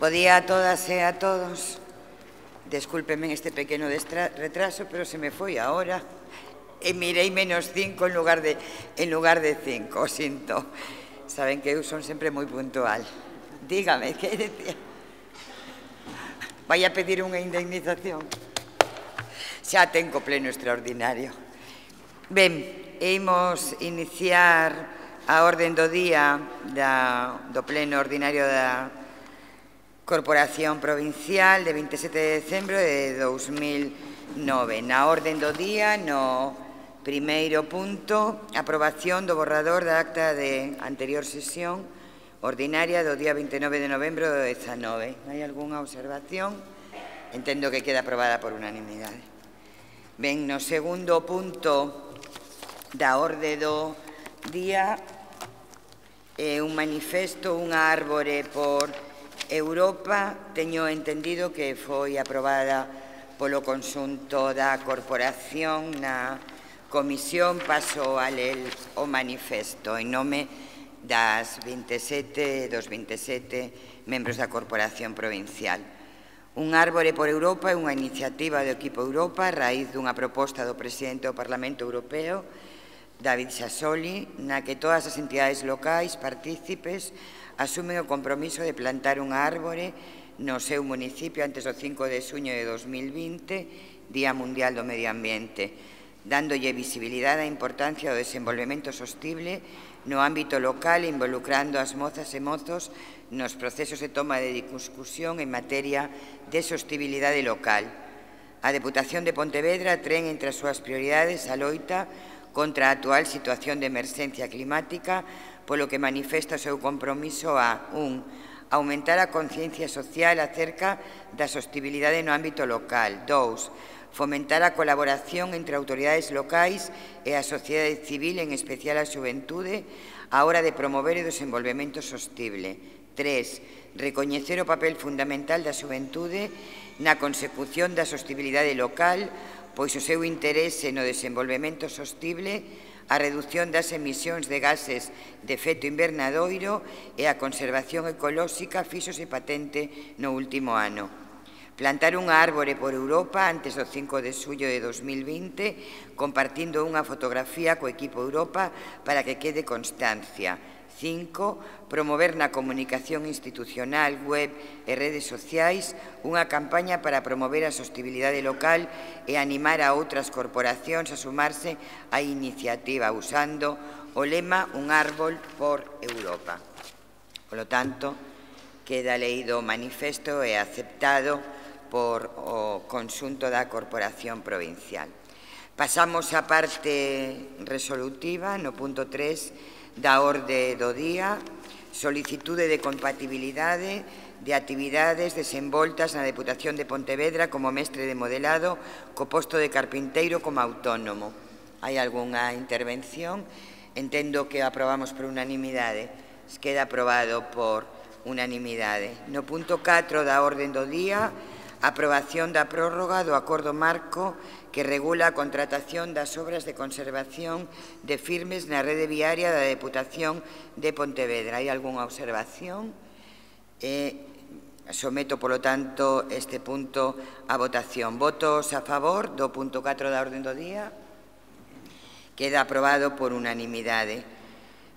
Bo día a todas e a todos. Descúlpenme este pequeno retraso, pero se me foi a hora e mirei -5 en lugar de 5, o sinto. Saben que eu son sempre moi puntual. Dígame, que decía? Vai a pedir unha indemnización? Xa tengo pleno extraordinario. Ben, imos iniciar a orden do día do pleno ordinario da Corporación Provincial de 27 de decembro de 2009. Na orden do día, no primeiro punto, aprobación do borrador da acta de anterior sesión ordinaria do día 29 de novembro do 19. Hai algunha observación? Entendo que queda aprobada por unanimidade. Ben, no segundo punto da orde do día, un manifesto, unha árbore por Europa. Teño entendido que foi aprobada polo conxunto da corporación na comisión. Paso a ler o manifesto en nome dos 27 membros da corporación provincial. Un árbore por Europa é unha iniciativa do equipo Europa a raíz dunha proposta do presidente do Parlamento Europeo, David Sassoli, na que todas as entidades locais partícipes asumen o compromiso de plantar unha árbore no seu municipio antes do 5 de xuño de 2020, Día Mundial do Medio Ambiente, dándolle visibilidade á importancia do desenvolvemento sostible no ámbito local e involucrando as mozas e mozos nos procesos de toma de discusión en materia de sostibilidade local. A Deputación de Pontevedra ten entre as súas prioridades a loita contra a actual situación de emerxencia climática, polo que manifesta o seu compromiso a 1. Aumentar a conciencia social acerca da sostibilidade no ámbito local. 2. Fomentar a colaboración entre autoridades locais e a sociedade civil, en especial a xuventude, á hora de promover o desenvolvemento sostible. 3. Recoñecer o papel fundamental da xuventude na consecución da sostibilidade local, pois o seu interese no desenvolvemento sostible, a reducción das emisións de gases de efecto invernadoiro e a conservación ecolóxica fíxose patente no último ano. Plantar unha árbore por Europa antes do 5 de xullo de 2020, compartindo unha fotografía co equipo Europa para que quede constancia. 5. Promover na comunicación institucional, web e redes sociais unha campaña para promover a sostibilidade local e animar a outras corporacións a sumarse á iniciativa usando o lema Un árbol por Europa. Polo tanto, queda leído o manifesto e aceptado por o conxunto da Corporación Provincial. Pasamos á parte resolutiva, no punto 3 da orde do día, solicitude de compatibilidade de actividades desenvoltas na Deputación de Pontevedra como mestre de modelado co posto de carpinteiro como autónomo. Hai algunha intervención? Entendo que aprobamos por unanimidade. Queda aprobado por unanimidade. No punto 4 da orde do día, aprobación da prórroga do acordo marco que regula a contratación das obras de conservación de firmes na rede viaria da Deputación de Pontevedra. Hai algunha observación? Someto, polo tanto, este punto a votación. Votos a favor do punto 4 da orde do día? Queda aprobado por unanimidade.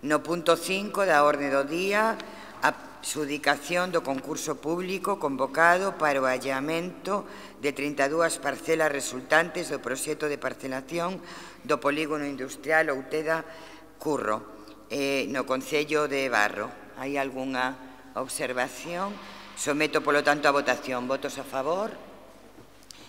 No punto 5 da orde do día, adxudicación do concurso público convocado para o allamento de 32 parcelas resultantes do proxecto de parcelación do polígono industrial Outeda Curro, no concello de Barro. Hai algunha observación? Someto, polo tanto, a votación. Votos a favor?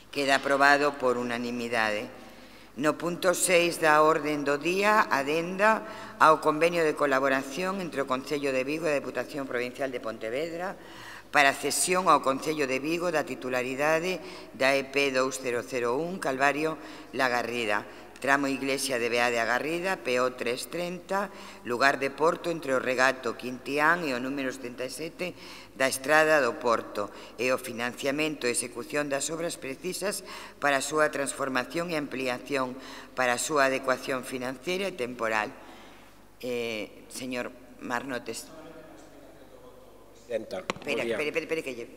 Queda aprobado por unanimidade. No punto 6 da orde do día, adenda ao convenio de colaboración entre o Concello de Vigo e a Deputación Provincial de Pontevedra para a cesión ao Concello de Vigo da titularidade da EP 2001 Calvario La Garrida, tramo Iglesia de Bea de Agarrida, PO 330, lugar de Porto entre o regato Quintián e o número 77 da Estrada do Porto, e o financiamento e execución das obras precisas para a súa transformación e ampliación, para a súa adecuación financiera e temporal. Señor Marnotes. Espere que lle...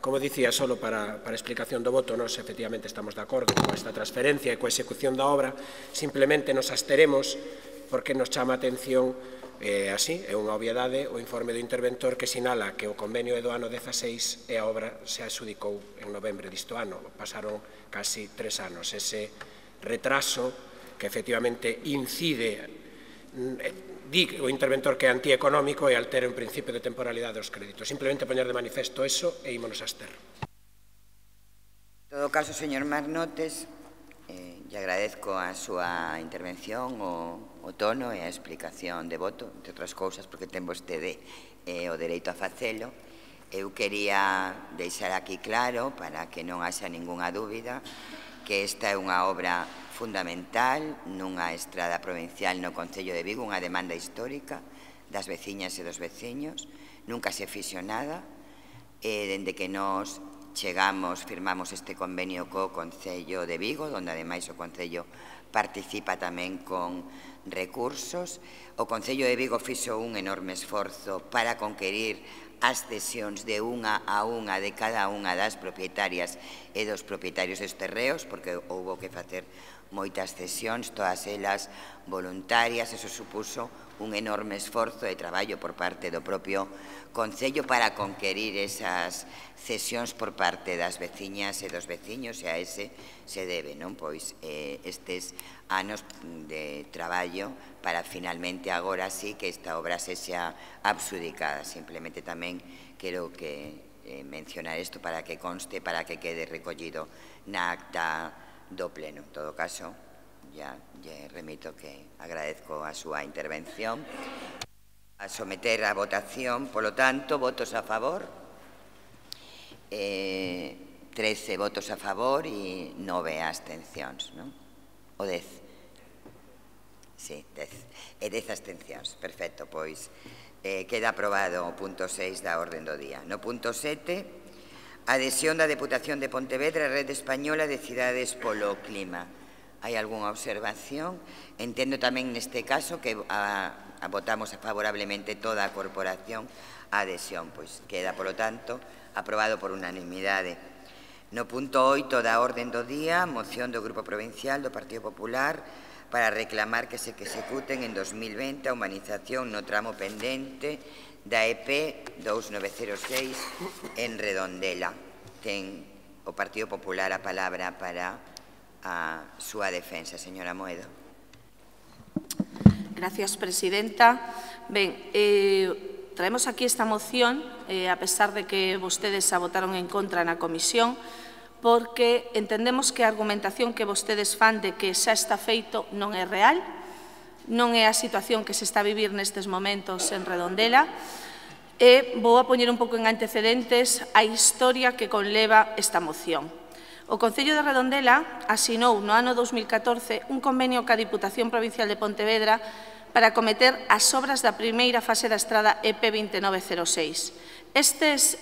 Como dicía, solo para explicación do voto, nós efectivamente estamos de acordo con esta transferencia e coa execución da obra, simplemente nos absteremos porque nos chama a atención, así, é unha obviedade, o informe do interventor que sinala que o convenio é do ano 16 e a obra se adxudicou en novembro disto ano. Pasaron casi 3 anos. Ese retraso que efectivamente incide, di o interventor que é antieconómico e altera un principio de temporalidade dos créditos. Simplemente poñer de manifesto eso e ímonos a abster. En todo caso, señor Marnotes, lle agradezco a súa intervención, o tono e a explicación de voto, entre outras cousas, porque ten vostede o dereito a facelo. Eu quería deixar aquí claro, para que non haxa ningunha dúbida, que esta é unha obra fundamental nunha estrada provincial no Concello de Vigo, unha demanda histórica das veciñas e dos veciños. Nunca se fixo nada, dende que nos chegamos, firmamos este convenio co Concello de Vigo, onde ademais o Concello participa tamén con recursos. O Concello de Vigo fixo un enorme esforzo para conquerir as cesións de unha a unha de cada unha das propietarias e dos propietarios dos terreos, porque houbo que facer moitas cesións, todas elas voluntarias. Eso supuso un enorme esforzo de traballo por parte do propio Concello para conquerir esas cesións por parte das veciñas e dos veciños, e a ese se debe, non? Pois estes anos de traballo para finalmente agora sí que esta obra se xa adxudicada. Simplemente tamén quero que mencionar isto para que conste, para que quede recollido na acta do pleno. En todo caso, ya lle remito que agradezco a súa intervención. A someter a votación, polo tanto, votos a favor, 13 votos a favor e 9 abstencións, non? O 10. Sí, 10. E 10 abstencións. Perfecto, pois queda aprobado o punto 6 da orden do día. No punto 7, adhesión da Deputación de Pontevedra á Rede Española de Cidades polo Clima. Hai algunha observación? Entendo tamén neste caso que votamos favorablemente toda a corporación a adhesión, pois queda, polo tanto, aprobado por unanimidade. No punto 8 da orden do día, moción do Grupo Provincial do Partido Popular para reclamar que se executen en 2020 a humanización no tramo pendente da EP 2906 en Redondela. Ten o Partido Popular a palabra para a súa defensa. Señora Moedo. Gracias, presidenta. Ben, traemos aquí esta moción, a pesar de que vostedes a votaron en contra na comisión, porque entendemos que a argumentación que vostedes fan de que xa está feito non é real, non é a situación que se está a vivir nestes momentos en Redondela, e vou a poñer un pouco en antecedentes a historia que conleva esta moción. O Concello de Redondela asinou no ano 2014 un convenio ca Diputación Provincial de Pontevedra para acometer as obras da primeira fase da estrada EP 2906. Estes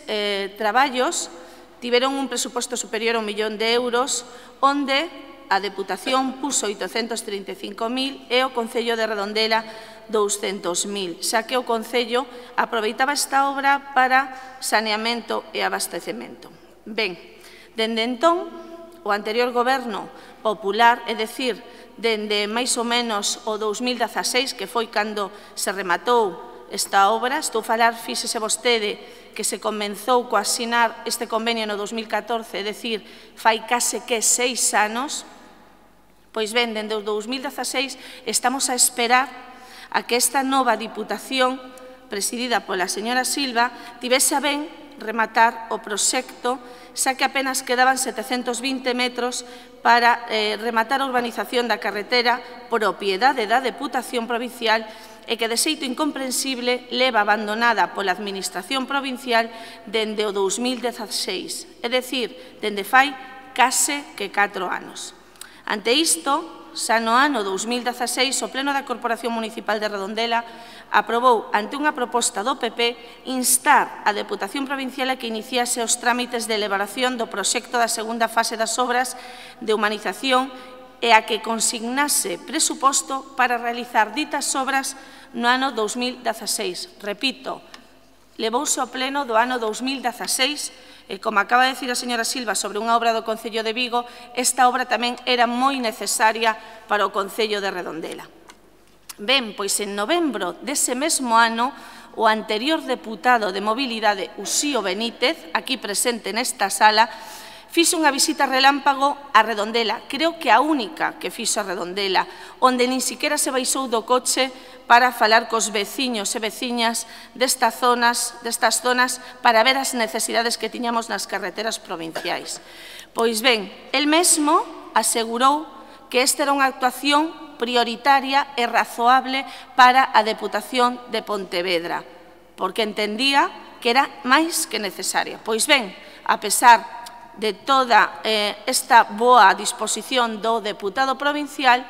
traballos tiveron un presuposto superior a 1 millón de euros, onde a Deputación puso 835.000 e o Concello de Redondela 200.000, xa que o Concello aproveitaba esta obra para saneamento e abastecemento. Ben, dende entón, o anterior goberno popular, é dicir, dende máis ou menos o 2016, que foi cando se rematou esta obra, estou a falar, fíxese vostede, que se comenzou co asinar este convenio no 2014, é dicir, fai case que 6 anos, pois ben, dende o 2016 estamos a esperar a que esta nova Diputación, presidida pola señora Silva, tivese a ben rematar o proxecto, xa que apenas quedaban 720 metros para rematar a urbanización da carretera propiedade da Deputación Provincial e que, de xeito incomprensible, leva abandonada pola Administración Provincial dende o 2016, é dicir, dende fai case que 4 anos. Ante isto, xa no ano 2016, o Pleno da Corporación Municipal de Redondela aprobou, ante unha proposta do PP, instar a Deputación Provincial a que iniciase os trámites de elaboración do proxecto da segunda fase das obras de humanización e a que consignase presuposto para realizar ditas obras no ano 2016. Repito, levouse ao pleno do ano 2016 e, como acaba de decir a señora Silva sobre unha obra do Concello de Vigo, esta obra tamén era moi necesaria para o Concello de Redondela. Ben, pois en novembro dese mesmo ano, o anterior deputado de Mobilidade, Uxío Benítez, aquí presente nesta sala, fixo unha visita relámpago a Redondela, creo que a única que fixo a Redondela, onde nin siquiera se baixou do coche para falar cos veciños e veciñas destas zonas para ver as necesidades que tiñamos nas carreteras provinciais. Pois ben, el mesmo asegurou que esta era unha actuación prioritaria e razoable para a Deputación de Pontevedra, porque entendía que era máis que necesaria. Pois ben, a pesar de toda esta boa disposición do deputado provincial,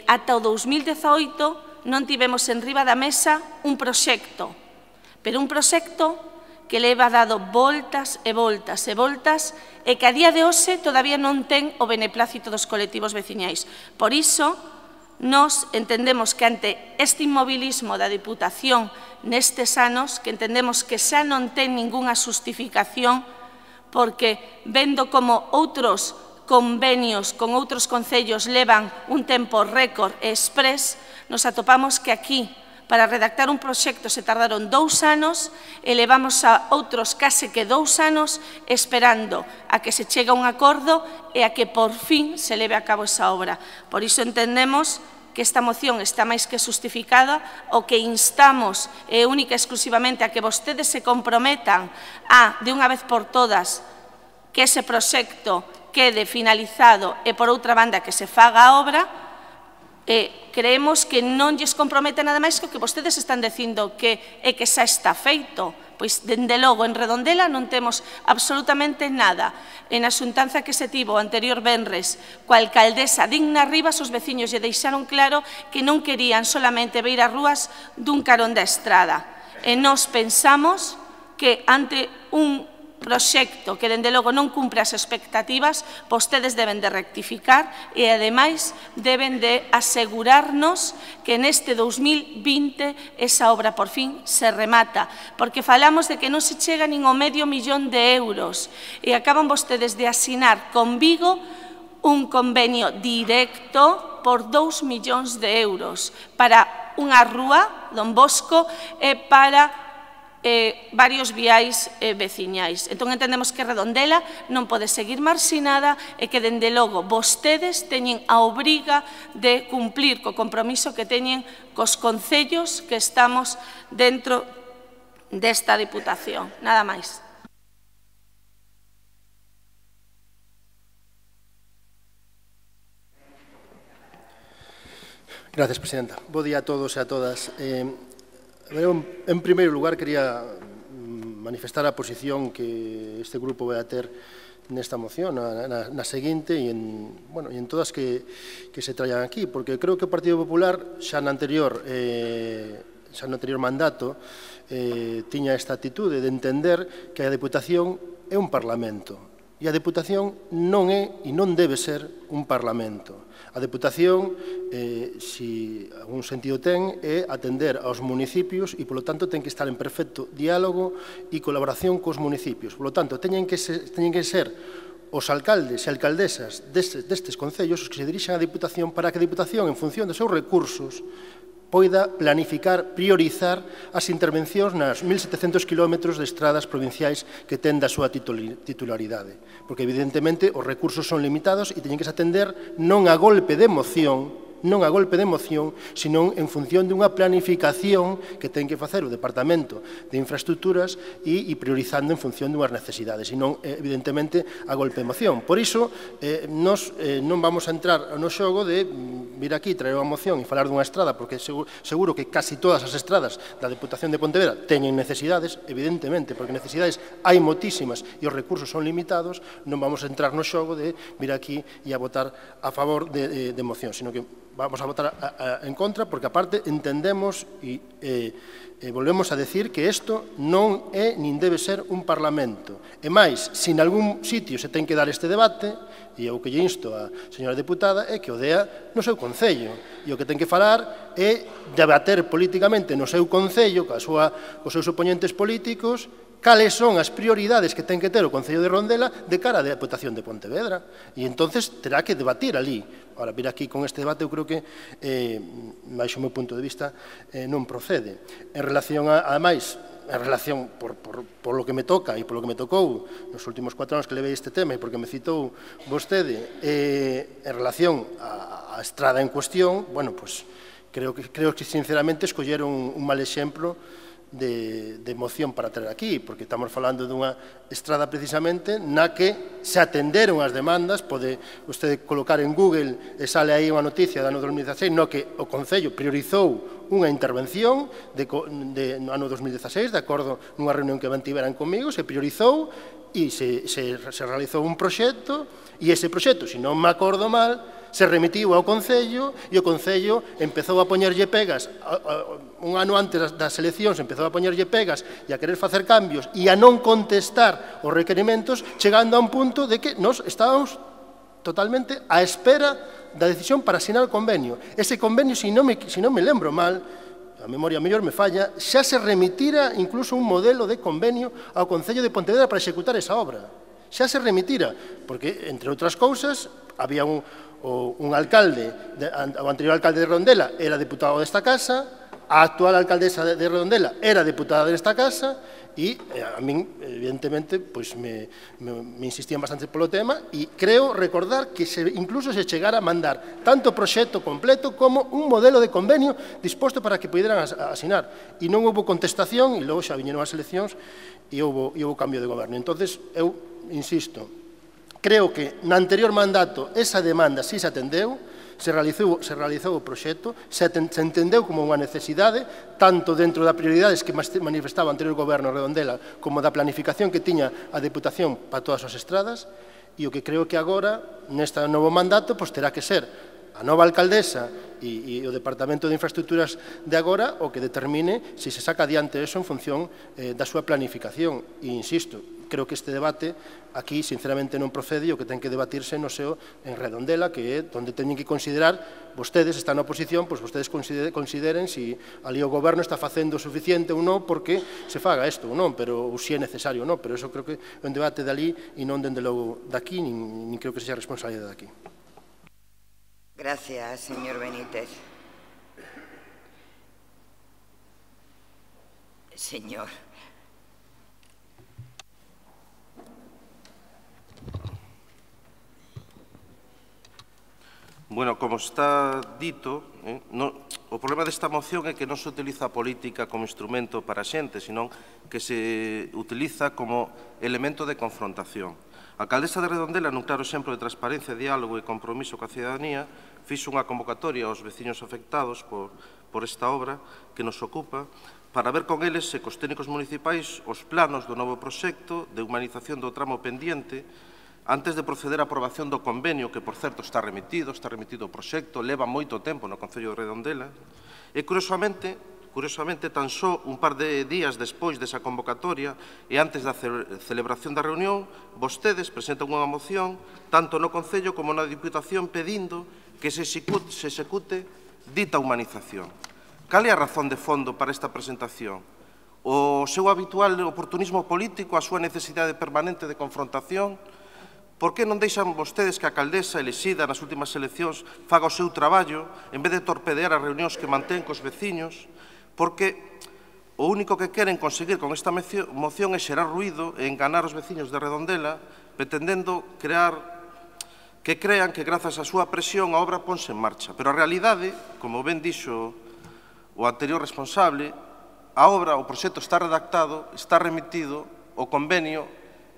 ata o 2018 non tivemos en riba da mesa un proxecto, pero un proxecto que leva dado voltas e voltas e voltas e que a día de hoxe todavía non ten o beneplácito dos colectivos veciñais. Por iso, nos entendemos que ante este inmobilismo da Deputación nestes anos, que entendemos que xa non ten ningunha xustificación, porque vendo como outros convenios con outros concellos levan un tempo récord e exprés, nos atopamos que aquí, para redactar un proxecto, se tardaron 2 anos e levamos a outros case que 2 anos esperando a que se chegue a un acordo e a que por fin se leve a cabo esa obra. Por iso entendemos que esta moción está máis que justificada, o que instamos única e exclusivamente a que vostedes se comprometan a, de unha vez por todas, que ese proxecto quede finalizado e, por outra banda, que se faga a obra. Creemos que non lles compromete nada máis que o que vostedes están dicindo que é que xa está feito. Pois, dende logo, en Redondela non temos absolutamente nada. En a xuntanza que se tivo o anterior venres coa alcaldesa Digna Rivas, os veciños lle deixaron claro que non querían solamente ver as rúas dun carón da estrada. E nós pensamos que ante un proxecto que, dende logo, non cumpre as expectativas, vostedes deben de rectificar e, ademais, deben de asegurarnos que neste 2020 esa obra, por fin, se remata, porque falamos de que non se chega nin ao medio millón de euros e acaban vostedes de asinar con Vigo un convenio directo por 2 millóns de euros para unha rúa, Don Bosco, e para varios viais veciñais. Entón, entendemos que Redondela non pode seguir marxinada e que, dende logo, vostedes teñen a obriga de cumplir co compromiso que teñen cos concellos que estamos dentro desta Deputación. Nada máis. Gracias, Presidenta. Bo día a todos e a todas. En primeiro lugar, quería manifestar a posición que este grupo vai a ter nesta moción, na seguinte e en todas que se traían aquí, porque creo que o Partido Popular xa no anterior mandato tiña esta actitude de entender que a Deputación é un Parlamento e a Deputación non é e non debe ser un Parlamento. A Deputación, se algún sentido ten, é atender aos municipios e, polo tanto, ten que estar en perfecto diálogo e colaboración cos municipios. Polo tanto, teñen que ser os alcaldes e alcaldesas destes concellos os que se dirixan á Deputación para que a Deputación, en función dos seus recursos, poida planificar, priorizar as intervencións nas 1.700 km de estradas provinciais que ten da súa titularidade. Porque, evidentemente, os recursos son limitados e teñen que se atender non a golpe de moción, senón en función dunha planificación que ten que facer o Departamento de Infraestructuras e priorizando en función dunhas necesidades, e non, evidentemente, a golpe de moción. Por iso, nos non vamos a entrar no xogo de vir aquí, traer unha moción e falar dunha estrada, porque seguro que casi todas as estradas da Deputación de Pontevedra teñen necesidades, evidentemente, porque necesidades hai moitísimas e os recursos son limitados. Non vamos a entrar no xogo de vir aquí e a votar a favor de moción, sino que vamos a votar en contra, porque aparte entendemos e volvemos a decir que isto non é nin debe ser un parlamento. E máis, se en algún sitio se ten que dar este debate, e o que lle insto a señora deputada é que o dea no seu concello. E o que ten que falar é debater políticamente no seu concello, cos seus oponentes políticos, cales son as prioridades que ten que ter o Concello de Redondela de cara á Deputación de Pontevedra. E entonces terá que debatir ali. Ahora, vir aquí con este debate, eu creo que, baixo o meu punto de vista, non procede. En relación a máis, en relación, por lo que me toca e por lo que me tocou nos últimos 4 anos que levei este tema e porque me citou vostede, en relación á estrada en cuestión, bueno, pues, creo que sinceramente escolleron un mal exemplo de moción para traer aquí, porque estamos falando dunha estrada precisamente na que se atenderon as demandas. Pode vostede colocar en Google e sale aí unha noticia do ano 2016 no que o Concello priorizou unha intervención no ano 2016, de acordo nunha reunión que mantiveran comigo, se priorizou e se realizou un proxecto, e ese proxecto, se non me acordo mal, se remitiu ao Concello e o Concello empezou a poñerlle pegas, un ano antes das eleccións empezou a poñerlle pegas e a querer facer cambios e a non contestar os requerimentos, chegando a un punto de que nós estábamos totalmente á espera da decisión para asinar o convenio. Ese convenio, se non me lembro mal, a memoria mellor me falla, xa se remitira incluso un modelo de convenio ao Concello de Pontevedra para executar esa obra. Xa se remitira, porque, entre outras cousas, había un alcalde, o anterior alcalde de Redondela era deputado desta casa, a actual alcaldesa de Redondela era deputada desta casa, e a min, evidentemente, me insistían bastante polo tema, e creo recordar que incluso se chegara a mandar tanto o proxecto completo como un modelo de convenio disposto para que poderan asinar. E non houve contestación, e logo xa viñeron as eleccións e houve cambio de goberno. Entonces, eu insisto, creo que no anterior mandato esa demanda sí se atendeu, se realizou o proxecto, se entendeu como unha necesidade, tanto dentro das prioridades que manifestaba o anterior goberno Redondela, como da planificación que tiña a Deputación para todas as estradas, e o que creo que agora, neste novo mandato, terá que ser a nova alcaldesa e o Departamento de Infraestructuras de agora o que determine se se saca adiante eso en función da súa planificación. E insisto, creo que este debate aquí sinceramente non procede, o que ten que debatirse no seo en Redondela, que é onde teñen que considerar, vostedes están na oposición, pois vostedes consideren se ali o goberno está facendo o suficiente ou non porque se faga isto ou non, pero se é necesario ou non, pero eso creo que é un debate dali e non dende logo daqui, nin creo que sexa responsabilidade daqui. Gracias, señor Benítez. Señor. Bueno, como está dito, o problema desta moción é que non se utiliza a política como instrumento para a xente, senón que se utiliza como elemento de confrontación. A alcaldesa de Redondela, nun claro exemplo de transparencia, diálogo e compromiso coa cidadanía, fixo unha convocatoria aos veciños afectados por esta obra que nos ocupa para ver con eles e cos técnicos municipais os planos do novo proxecto de humanización do tramo pendiente antes de proceder á aprobación do convenio, que, por certo, está remitido o proxecto, leva moito tempo no Concello de Redondela, e, curiosamente, tan só un par de días despois desa convocatoria e antes da celebración da reunión, vostedes presentan unha moción tanto no Concello como na Diputación pedindo que se execute dita humanización. Cal é a razón de fondo para esta presentación? O seu habitual oportunismo político, a súa necesidade permanente de confrontación? Por que non deixan vostedes que a alcaldesa elexida nas últimas eleccións faga o seu traballo en vez de torpedear as reunións que mantén cos veciños? Porque o único que queren conseguir con esta moción é xerar ruído e enganar os veciños de Redondela, pretendendo que crean que grazas á súa presión a obra ponse en marcha. Pero a realidade, como ben dixo o anterior responsable, a obra, o proxecto está redactado, está remitido, o convenio,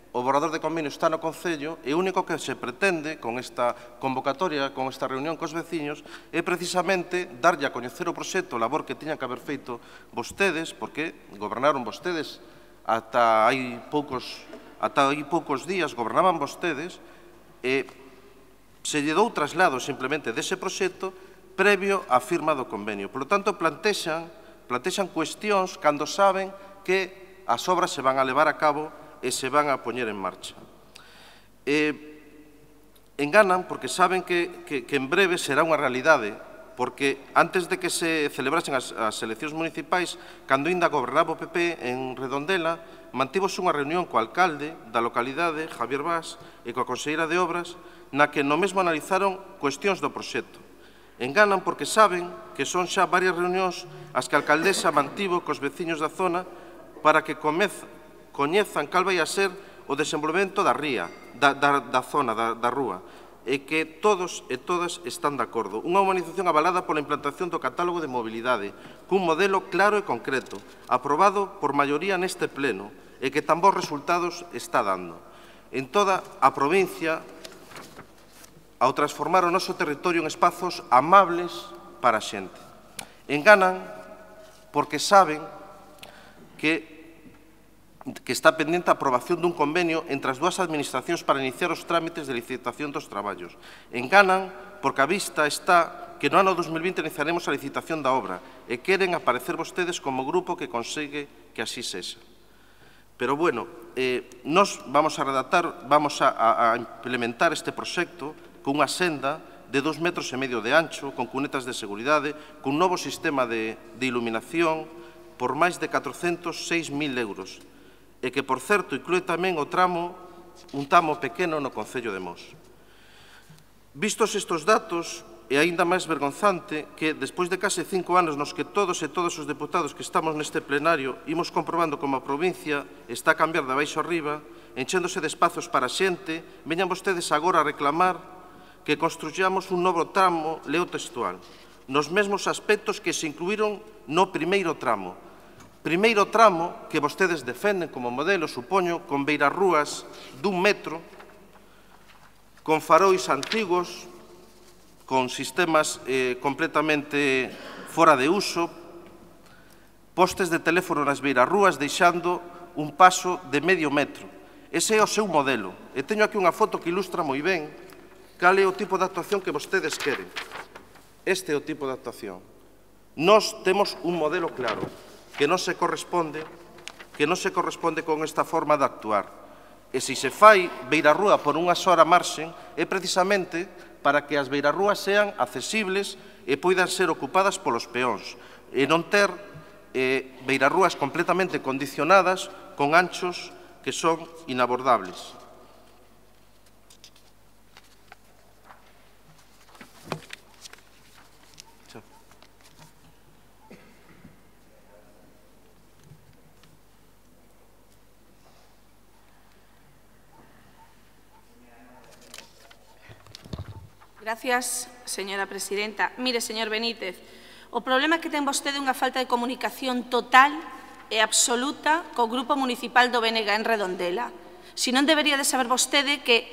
o borrador de convenio está no Concello, e o único que se pretende con esta convocatoria, con esta reunión cos veciños, é precisamente darlle a coñecer o proxecto, a labor que tiñan que haber feito vostedes, porque gobernaron vostedes ata hai poucos días, gobernaban vostedes, e se lle dou traslado simplemente dese proxecto previo á firma do convenio. Por lo tanto, plantexan cuestións cando saben que as obras se van a levar a cabo e se van a poñer en marcha. Enganan porque saben que en breve será unha realidade, porque antes de que se celebrasen as eleccións municipais, cando ainda gobernaba o PP en Redondela, mantivose unha reunión co alcalde da localidade, Javier Bas, e coa conselleira de Obras, na que no mesmo analizaron cuestións do proxecto. Enganan porque saben que son xa varias reunións as que a alcaldesa mantivo cos veciños da zona para que coñezan cal vai a ser o desenvolvemento da ría, da zona, da rúa, e que todos e todas están de acordo. Unha humanización avalada pola implantación do catálogo de mobilidade, cun modelo claro e concreto, aprobado por maioría neste pleno, e que tan bons resultados está dando. En toda a provincia, ao transformar o noso territorio en espazos amables para a xente. Enganan porque saben que está pendente a aprobación dun convenio entre as dúas administracións para iniciar os trámites de licitación dos traballos. Enganan porque a vista está que no ano 2020 iniciaremos a licitación da obra e queren aparecer vostedes como grupo que consegue que así sexa. Pero, bueno, nos vamos a redactar, vamos a implementar este proxecto con unha senda de 2,5 metros de ancho, con cunetas de seguridade, cun novo sistema de iluminación por máis de 406.000 euros. E que, por certo, inclúe tamén un tramo pequeno no Concello de Mos. Vistos estes datos, é aínda máis vergonzante que, despois de case 5 anos nos que todos os deputados que estamos neste plenario imos comprobando como a provincia está a cambiar de baixo arriba, enchéndose de espazos para a xente, veñan vostedes agora a reclamar que construyamos un novo tramo, leo textual, nos mesmos aspectos que se incluíron no primeiro tramo, que vostedes defenden como modelo, supoño, con beirarrúas dun metro, con farois antigos, con sistemas completamente fora de uso, postes de teléfono nas beirarrúas deixando un paso de medio metro. Ese é o seu modelo. E teño aquí unha foto que ilustra moi ben cal é o tipo de actuación que vostedes queren. Este é o tipo de actuación. Nós temos un modelo claro que non se corresponde con esta forma de actuar. E se se fai beirarrúa por unha sola marxen é precisamente para que as beirarrúas sean accesibles e poidan ser ocupadas polos peóns e non ter beirarrúas completamente condicionadas con anchos que son inabordables. Gracias, señora presidenta. Mire, señor Benítez, o problema é que ten vostede unha falta de comunicación total e absoluta co Grupo Municipal do BNG en Redondela. Se non debería de saber vostede que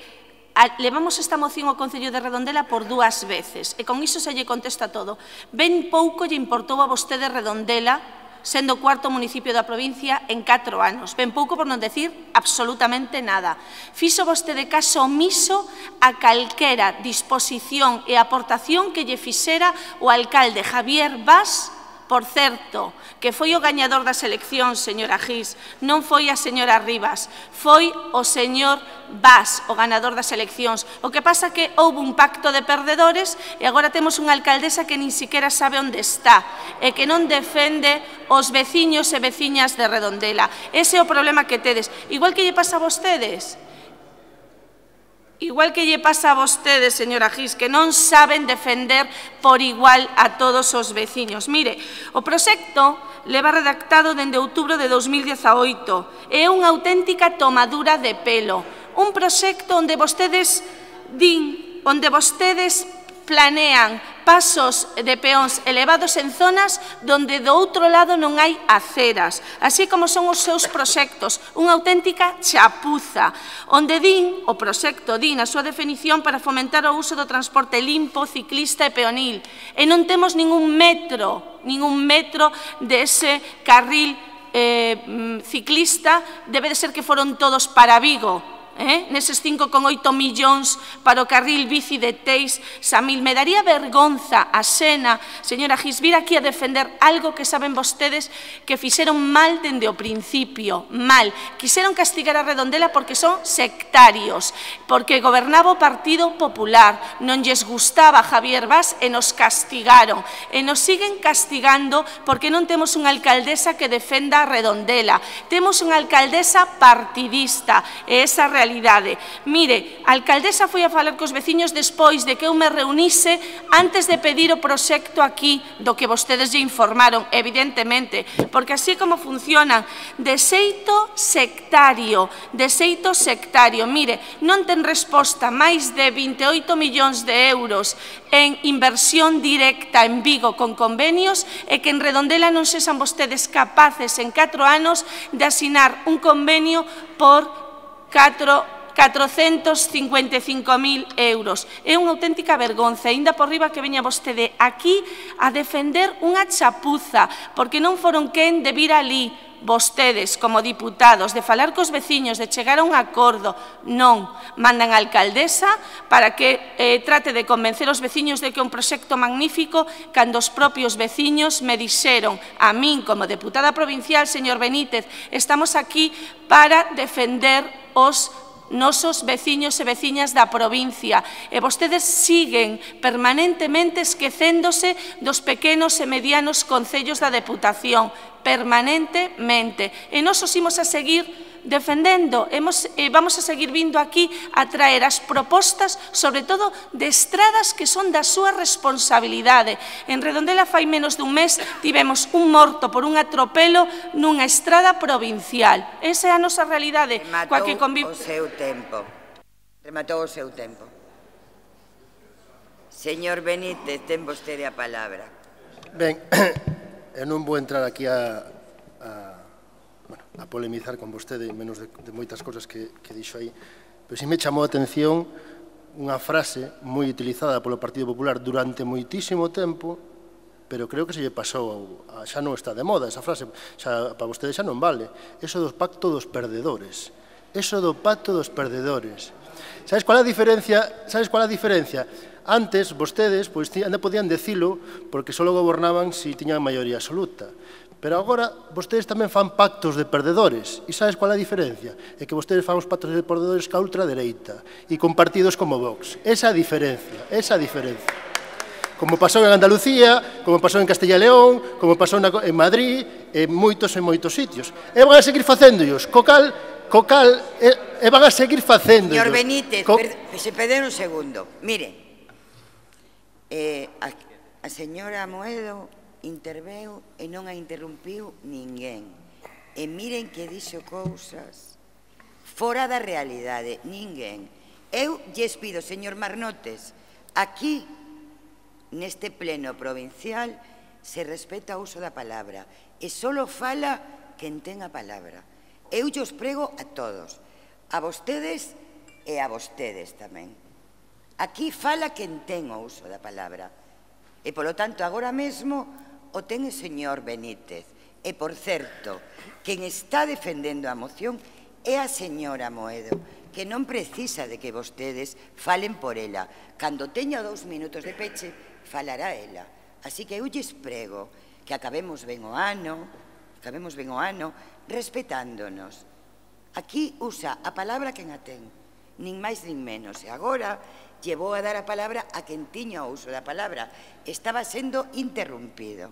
levamos esta moción ao Concello de Redondela por 2 veces e con iso se lle contesta todo. Ben pouco lle importou a vostede Redondela sendo o 4º municipio da provincia en 4 anos. Ben pouco por non decir absolutamente nada. Fixo vostede caso omiso a calquera disposición e aportación que lle fixera o alcalde Javier Bas, por certo, que foi o gañador das eleccións, señora Gis, non foi a señora Rivas, foi o señor Bas, o ganador das eleccións. O que pasa que houve un pacto de perdedores e agora temos unha alcaldesa que nin siquiera sabe onde está e que non defende os veciños e veciñas de Redondela. Ese é o problema que tedes. Igual que lle pasa a vostedes. Igual que lle pasa a vostedes, señora Gis, que non saben defender por igual a todos os veciños. Mire, o proxecto leva redactado dende outubro de 2018. É unha auténtica tomadura de pelo. Un proxecto onde vostedes planean pasos de peóns elevados en zonas donde do outro lado non hai aceras, así como son os seus proxectos, unha auténtica chapuza, onde o proxecto di na súa definición para fomentar o uso do transporte limpo, ciclista e peonil, e non temos ningún metro dese carril ciclista, debe de ser que foron todos para Vigo, neses 5,8 millóns para o carril bici de Teis, Samil. Me daría vergonza a Xena, señora Gis, vir aquí a defender algo que saben vostedes que fixeron mal dende o principio, mal. Quixeron castigar a Redondela porque son sectarios, porque gobernaba o Partido Popular, non lles gustaba Javier Bas e nos castigaron. E nos siguen castigando porque non temos unha alcaldesa que defenda a Redondela. Temos unha alcaldesa partidista, e esa realidade. Mire, a alcaldesa foi a falar cos veciños despois de que eu me reunise antes de pedir o proxecto aquí do que vostedes lle informaron, evidentemente, porque así como funcionan, de xeito sectario, mire, non ten resposta máis de 28 millóns de euros en inversión directa en Vigo con convenios e que en Redondela non sexan vostedes capaces en 4 anos de asinar un convenio por 455.000 euros. É unha auténtica vergonza, aínda por riba que veña vostede aquí a defender unha chapuza, porque non foron quen de vir ali vostedes como diputados, de falar cos veciños, de chegar a un acordo. Non, mandan a alcaldesa para que trate de convencer os veciños de que é un proxecto magnífico, cando os propios veciños me dixeron a min como deputada provincial, señor Benítez, estamos aquí para defender os nosos veciños e veciñas da provincia, e vostedes siguen permanentemente esquecéndose dos pequenos e medianos concellos da Deputación, permanentemente. E nós os imos a seguir defendendo, vamos a seguir vindo aquí a traer as propostas, sobre todo de estradas que son da súa responsabilidade. En Redondela fai menos dun mes tivemos un morto por un atropelo nunha estrada provincial. Esa é a nosa realidade. Rematou o seu tempo. Rematou o seu tempo. Señor Benítez, ten vostede a palabra. Ben, eu non vou entrar aquí a polemizar con vostede, menos de moitas cosas que dixo aí, pero si me chamou a atención unha frase moi utilizada polo Partido Popular durante moitísimo tempo, pero creo que se lle pasou, xa non está de moda esa frase, xa para vostede xa non vale, eso do pacto dos perdedores. Eso do pacto dos perdedores. Sabes qual é a diferencia? Antes, vostedes, pois, ainda podían decilo porque só gobernaban se tiñan maioría absoluta. Pero agora, vostedes tamén fan pactos de perdedores. E sabes qual é a diferencia? É que vostedes fan os pactos de perdedores ca ultradereita e con partidos como Vox. Esa é a diferencia, Como pasou en Andalucía, como pasou en Castilla e León, como pasou en Madrid, en moitos sitios. E van a seguir facéndollos. Cocal, e van a seguir facéndollos. Señor Benítez, se perde un segundo. Mire, a señora Amoedo interveu e non a interrumpiu ninguén. E miren que dixo cousas fora da realidade, ninguén. Eu lles pido, señor Marnotes, aquí, neste pleno provincial, se respeta o uso da palabra e só fala quen ten a palabra. Eu lles prego a todos, a vostedes e a vostedes tamén. Aquí fala quen ten o uso da palabra. E, polo tanto, agora mesmo o ten o señor Benítez. E, por certo, quen está defendendo a moción é a señora Amoedo, que non precisa de que vostedes falen por ela. Cando teña 2 minutos de peche, falará ela. Así que eu lles prego que acabemos ben o ano, respetándonos. Aquí usa a palabra quen a ten, nin máis nin menos. E agora llevou a dar a palabra a quen tiña o uso da palabra. Estaba sendo interrumpido.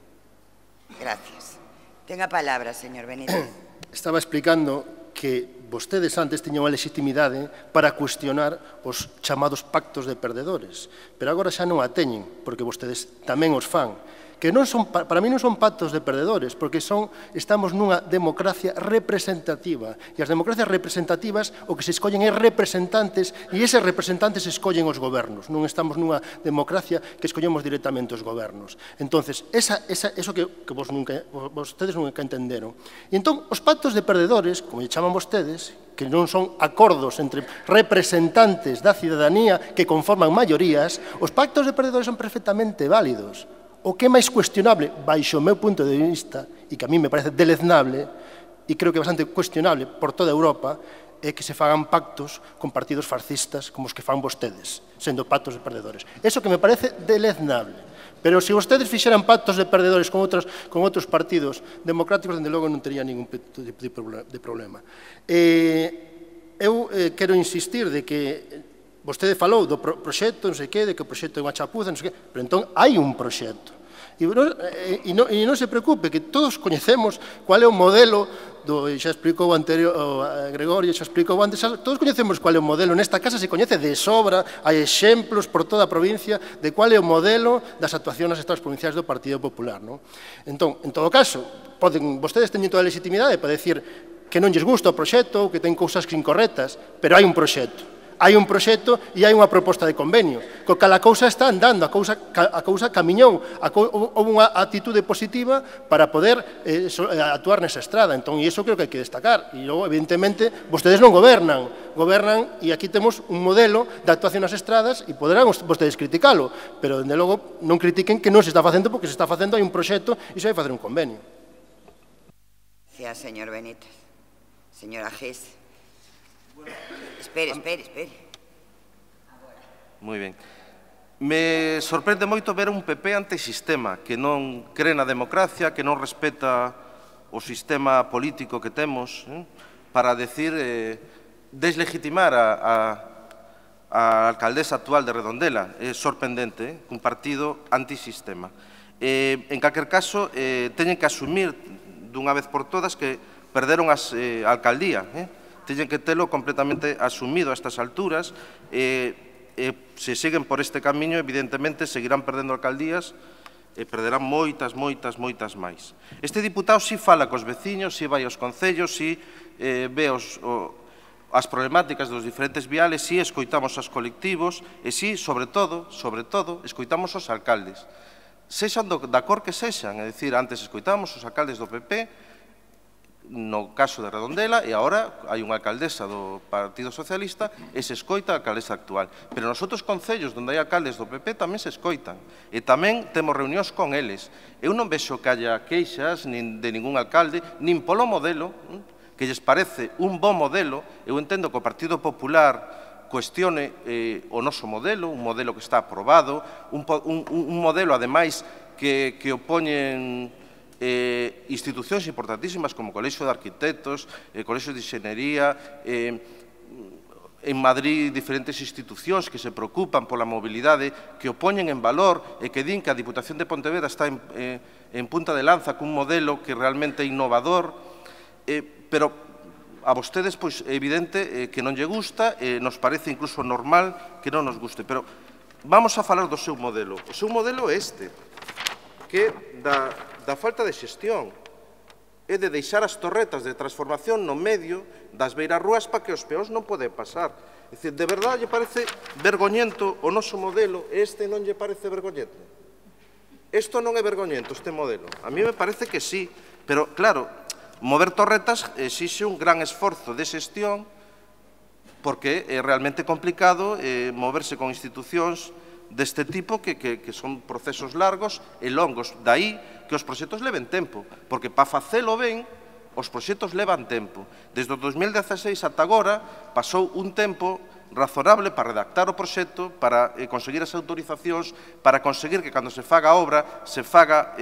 Gracias. Ten a palabra, señor Benítez. Estaba explicando que vostedes antes tiñan a legitimidade para cuestionar os chamados pactos de perdedores, pero agora xa non a teñen, porque vostedes tamén os fan. Que non son, para mí non son pactos de perdedores, porque estamos nunha democracia representativa, e as democracias representativas o que se escollen é representantes, e eses representantes escollen os gobernos. Non estamos nunha democracia que escollemos directamente os gobernos. Entonces, eso que vostedes nunca entenderon. E entón, os pactos de perdedores, como lle chaman vostedes, que non son acordos entre representantes da cidadanía que conforman maiorías, os pactos de perdedores son perfectamente válidos. O que é máis cuestionable, baixo o meu punto de vista, e que a mí me parece deleznable, e creo que bastante cuestionable por toda Europa, é que se fagan pactos con partidos fascistas como os que fan vostedes, sendo pactos de perdedores. Eso que me parece deleznable. Pero se vostedes fixeran pactos de perdedores con outros partidos democráticos, dende logo non tería ningún de problema. Eu quero insistir de que vostede falou do proxecto, non sei que, de que o proxecto é unha chapuza, non sei que, pero entón hai un proxecto. E non se preocupe, que todos coñecemos cual é o modelo, xa explicou o anterior, Gregorio, xa explicou antes, todos coñecemos cual é o modelo, nesta casa se coñece de sobra, hai exemplos por toda a provincia de cual é o modelo das actuacións nas estados provinciais do Partido Popular. Entón, en todo caso, vostedes teñen toda a legitimidade para decir que non lles gusta o proxecto, que ten cousas incorrectas, pero hai un proxecto. Hai un proxecto e hai unha proposta de convenio. Co cal a cousa está andando, a cousa camiñou, houve unha actitude positiva para poder actuar nesa estrada. Entón, e iso creo que hai que destacar. E logo, evidentemente, vostedes non gobernan, e aquí temos un modelo de actuación nas estradas e poderán vostedes criticalo, pero, dende logo, non critiquen que non se está facendo, porque se está facendo, hai un proxecto e se vai facer un convenio. Gracias, señor Benítez. Señora Gés. Espere. Moi ben. Me sorprende moito ver un PP antisistema, que non cree na democracia, que non respeta o sistema político que temos, para deslegitimar a alcaldesa actual de Redondela. É sorprendente, un partido antisistema. En calquer caso, teñen que asumir dunha vez por todas que perderon a alcaldía, teñen que telo completamente asumido a estas alturas. Se siguen por este camiño, evidentemente, seguirán perdendo alcaldías e perderán moitas máis. Este diputado si fala cos veciños, si vai aos concellos, si ve as problemáticas dos diferentes viales, si escoitamos aos colectivos e si, sobre todo, escoitamos aos alcaldes. Sexan da cor que sexan, é dicir, antes escoitamos os alcaldes do PP, no caso de Redondela, e agora hai unha alcaldesa do Partido Socialista e se escoita a alcaldesa actual. Pero nos outros concellos onde hai alcaldes do PP tamén se escoitan e tamén temos reunións con eles. Eu non vexo que haya queixas de ningún alcalde, nin polo modelo, que lles parece un bon modelo. Eu entendo que o Partido Popular cuestione o noso modelo, un modelo que está aprobado, un modelo, ademais, que opoñen institucións importantísimas como o Colexio de Arquitectos, Colexio de Enxeñería, en Madrid diferentes institucións que se preocupan pola mobilidade, que o poñen en valor e que din que a Diputación de Pontevedra está en punta de lanza cun modelo que realmente é innovador, pero a vostedes é evidente que non lle gusta, nos parece incluso normal que non nos guste, pero vamos a falar do seu modelo. O seu modelo é este, que da falta de xestión, é de deixar as torretas de transformación no medio das beirarrúas para que os peóns non poden pasar. É dicir, de verdade lle parece vergoñento o noso modelo, e este non lle parece vergoñento? Isto non é vergoñento, este modelo? A mí me parece que sí, pero, claro, mover torretas exixe un gran esforzo de xestión, porque é realmente complicado moverse con institucións deste tipo que son procesos largos e longos. Daí que os proxectos leven tempo, porque para facelo ben, os proxectos levan tempo. Desde o 2016 ata agora pasou un tempo razonable para redactar o proxecto, para conseguir as autorizacións, para conseguir que cando se faga a obra se faga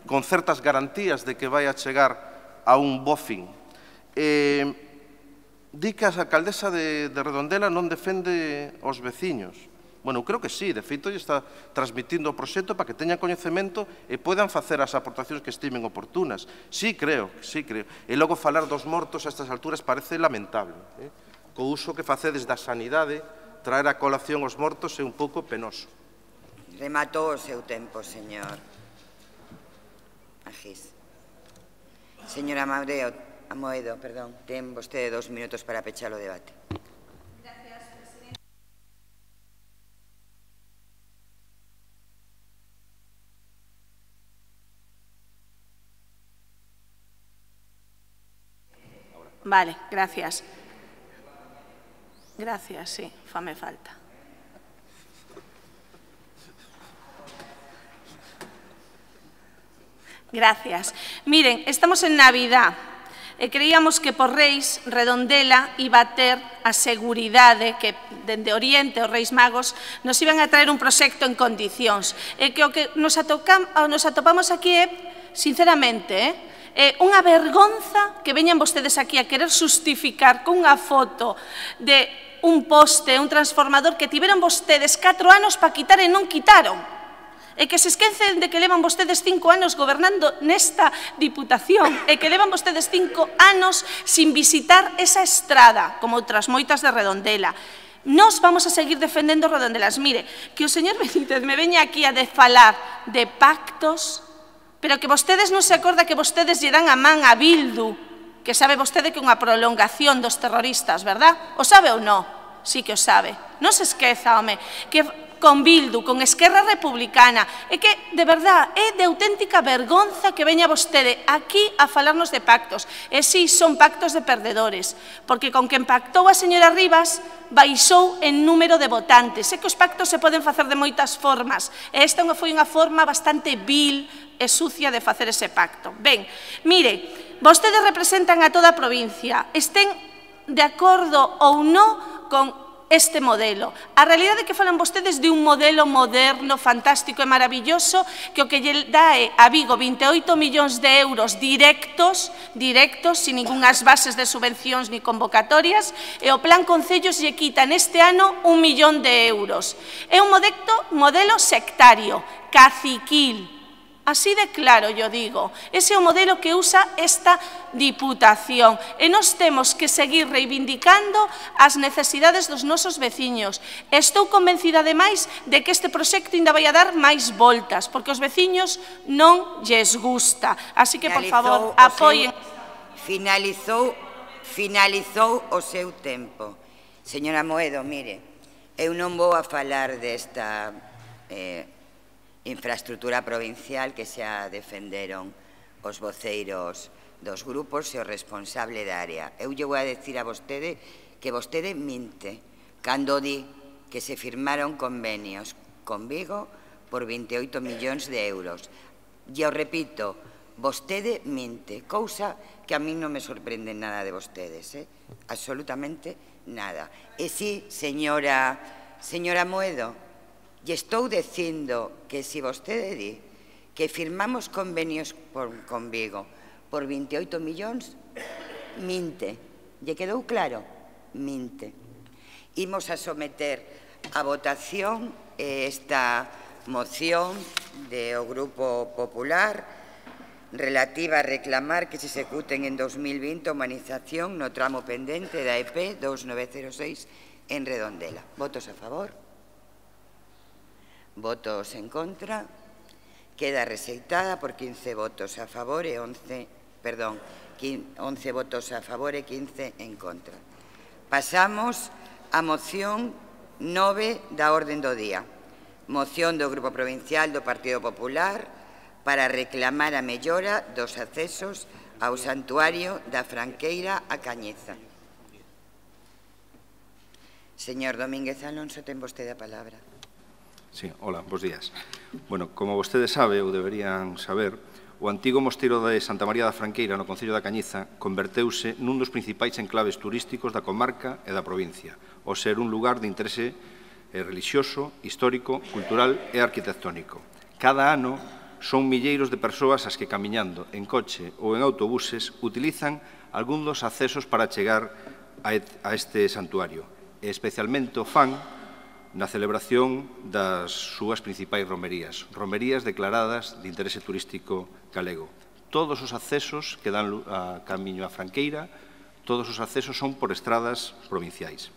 con certas garantías de que vai a chegar a un bo fin. Di que a alcaldesa de Redondela non defende os veciños. Bueno, eu creo que sí, de feito, lle está transmitindo o proxecto para que teñan coñecemento e poidan facer as aportacións que estimen oportunas. Sí, creo. E logo falar dos mortos a estas alturas parece lamentable. Co uso que facedes da sanidade, traer a colación os mortos é un pouco penoso. Rematou o seu tempo, señor Agís. Señora Amoedo, ten vostede 2 minutos para pechar o debate. Vale, gracias. Gracias, sí, fame falta. Gracias. Miren, estamos en Navidad. e creíamos que por Reis Redondela iba a ter a seguridade que dende Oriente os Reis Magos nos iban a traer un proxecto en condicións e que o que nos atopamos aquí é, sinceramente, é unha vergonza que veñan vostedes aquí a querer justificar con unha foto de un poste, un transformador que tiveron vostedes 4 anos para quitar e non quitaron. E que se esquecen de que levan vostedes 5 anos gobernando nesta Diputación e que levan vostedes 5 anos sin visitar esa estrada, como outras moitas de Redondela. Nos vamos a seguir defendendo Redondelas. Mire, que o señor Benítez me veña aquí a falar de pactos, pero que vostedes non se acorda que vostedes lle dan a man a Bildu, que sabe vostede que é unha prolongación dos terroristas, verdad? O sabe ou non? Sí que o sabe. Non se esqueza, home, que con Bildu, con Esquerra Republicana, é que, de verdad, é de auténtica vergonza que veña vostede aquí a falarnos de pactos. E si, son pactos de perdedores, porque con quen pactou a señora Rivas baixou en número de votantes. Sé que os pactos se poden facer de moitas formas, e esta foi unha forma bastante vil e sucia de facer ese pacto. Ben, mire, vostedes representan a toda a provincia, estén de acordo ou non con este modelo. A realidade é que falan vostedes de un modelo moderno, fantástico e maravilloso que o que lle dá a Vigo 28 millóns de euros directos, sin ningunhas bases de subvencións ni convocatorias, e o Plan Concellos lle quita neste ano 1 millón de euros. É un modelo sectario, caciquil. Así de claro, yo digo, ese é o modelo que usa esta Diputación e nós temos que seguir reivindicando as necesidades dos nosos veciños. Estou convencida, ademais, de que este proxecto ainda vai a dar máis voltas, porque os veciños non lles gusta. Así que, por favor, apoien. Finalizou o seu tempo. Señora Moedo, mire, eu non vou a falar desta infraestructura provincial que xa defenderon os voceiros dos grupos e o responsable da área. Eu lle vou a decir a vostede que vostede minte cando di que se firmaron convenios con Vigo por 28 millóns de euros. E o repito, vostede minte, cousa que a mí non me sorprende nada de vostedes, absolutamente nada. E si, señora Moedo, e estou dicindo que se vostede di que firmamos convenios con Vigo por 28 millóns, minte. Lle quedou claro? Minte. Imos a someter a votación esta moción do Grupo Popular relativa a reclamar que se executen en 2020 a humanización no tramo pendente da EP 2906 en Redondela. Votos a favor? Votos en contra. Queda rexeitada por 15 votos a favor e 11 votos a favor e 15 en contra. Pasamos á moción 9 da orden do día. Moción do Grupo Provincial do Partido Popular para reclamar a mellora dos accesos ao Santuario da Franqueira a Cañiza. Señor Domínguez Alonso, ten vostede a palabra. Sí, hola, bos días. Bueno, como vostedes sabe, ou deberían saber, o antigo mosteiro de Santa María da Franqueira no Concello da Cañiza converteuse nun dos principais enclaves turísticos da comarca e da provincia, ao ser un lugar de interese relixioso, histórico, cultural e arquitectónico. Cada ano son milleiros de persoas as que camiñando en coche ou en autobuses utilizan algún dos accesos para chegar a este santuario, e especialmente o fan na celebración das súas principais romerías, romerías declaradas de interese turístico galego. Todos os accesos que dan a camiño a Franqueira, todos os accesos son por estradas provinciais.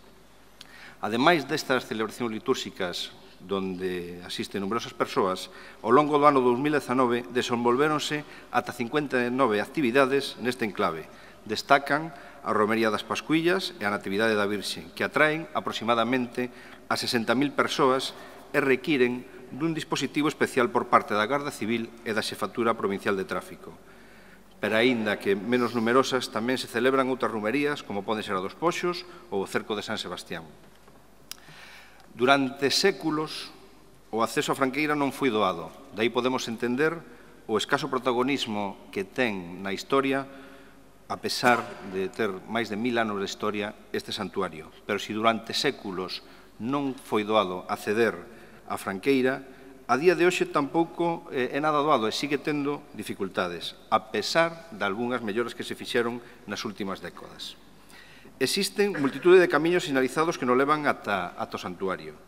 Ademais destas celebracións litúrxicas donde asisten numerosas persoas, ao longo do ano 2019 desenvolvéronse ata 59 actividades neste enclave. Destacan a Romería das Pascuillas e a Natividade da Virxe, que atraen aproximadamente a 60.000 persoas e requiren dun dispositivo especial por parte da Garda Civil e da Xefatura Provincial de Tráfico. Pero aínda que menos numerosas, tamén se celebran outras romerías, como poden ser a dos Poxos ou o Cerco de San Sebastián. Durante séculos, o acceso a Franqueira non foi doado. Daí podemos entender o escaso protagonismo que ten na historia a pesar de ter máis de 1000 anos de historia este santuario. Pero se durante séculos non foi doado acceder á Franqueira, a día de hoxe tampouco é nada doado e sigue tendo dificultades, a pesar de algunhas melloras que se fixeron nas últimas décadas. Existen multitude de camiños sinalizados que nos levan ata o santuario,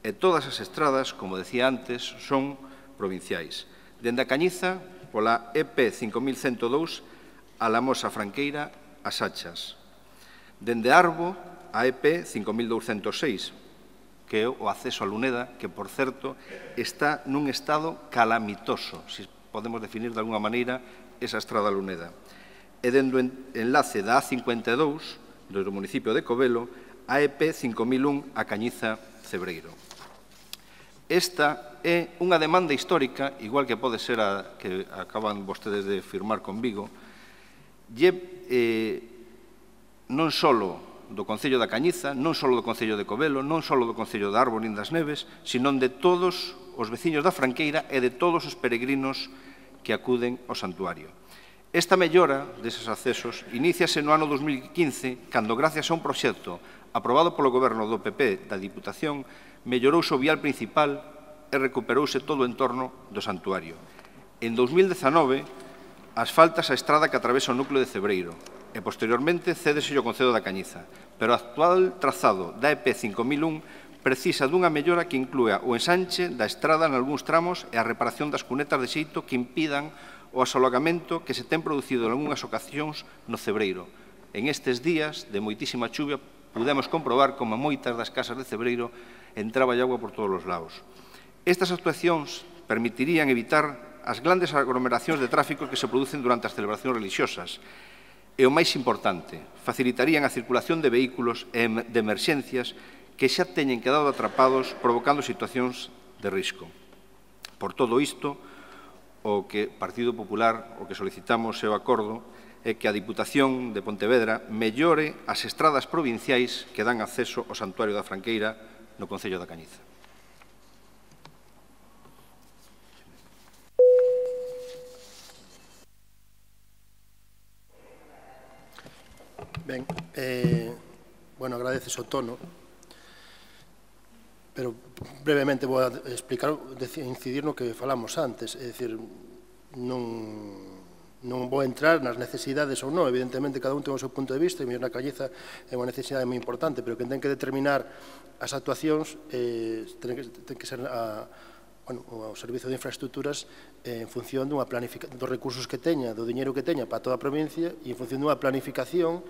e todas as estradas, como decía antes, son provinciais. Dende a Cañiza, pola EP 5102, a la Mosa Franqueira, as Achas. Dende Arbo, a EP 5206, que é o acceso a Luneda, que, por certo, está nun estado calamitoso, se podemos definir de alguna maneira esa estrada Luneda. E dende o enlace da A52, do municipio de Covelo, a EP 5001 a Cañiza Cebreiro. Esta é unha demanda histórica, igual que pode ser a que acaban vostedes de firmar con Vigo, non só do Concello da Cañiza, non só do Concello de Covelo, non só do Concello de Arbo nin das Neves, sino de todos os veciños da Franqueira e de todos os peregrinos que acuden ao santuario. Esta mellora deses accesos iníciase no ano 2015, cando, gracias a un proxecto aprobado polo Goberno do PP da Diputación, mellorouse o vial principal e recuperouse todo o entorno do santuario. En 2019, asfaltas a estrada que atravesa o núcleo de Cebreiro, e posteriormente cédese ao Concello da Cañiza, pero o actual trazado da EP 5001 precisa dunha mellora que inclúa o ensanche da estrada en algúns tramos e a reparación das cunetas de xeito que impidan o asolagamento que se ten producido en algunhas ocasións no Cebreiro. En estes días de moitísima chuvia pudemos comprobar como moitas das casas de Cebreiro entraba agua por todos os lados. Estas actuacións permitirían evitar as grandes aglomeracións de tráfico que se producen durante as celebracións religiosas e, o máis importante, facilitarían a circulación de vehículos e de emerxencias que xa teñen quedado atrapados provocando situacións de risco. Por todo isto, o que Partido Popular, o que solicitamos é o acordo, é que a Diputación de Pontevedra mellore as estradas provinciais que dan acceso ao Santuario da Franqueira no Concello da Cañiza. Ben, agradeces o tono, pero brevemente vou a explicar, incidir no que falamos antes, é dicir, non vou entrar nas necesidades ou non, evidentemente cada un ten o seu punto de vista, e na Cañiza é unha necesidade moi importante, pero que ten que determinar as actuacións ten que ser o Servizo de Infraestructuras en función dos recursos que teña, do diñeiro que teña para toda a provincia e en función dunha planificación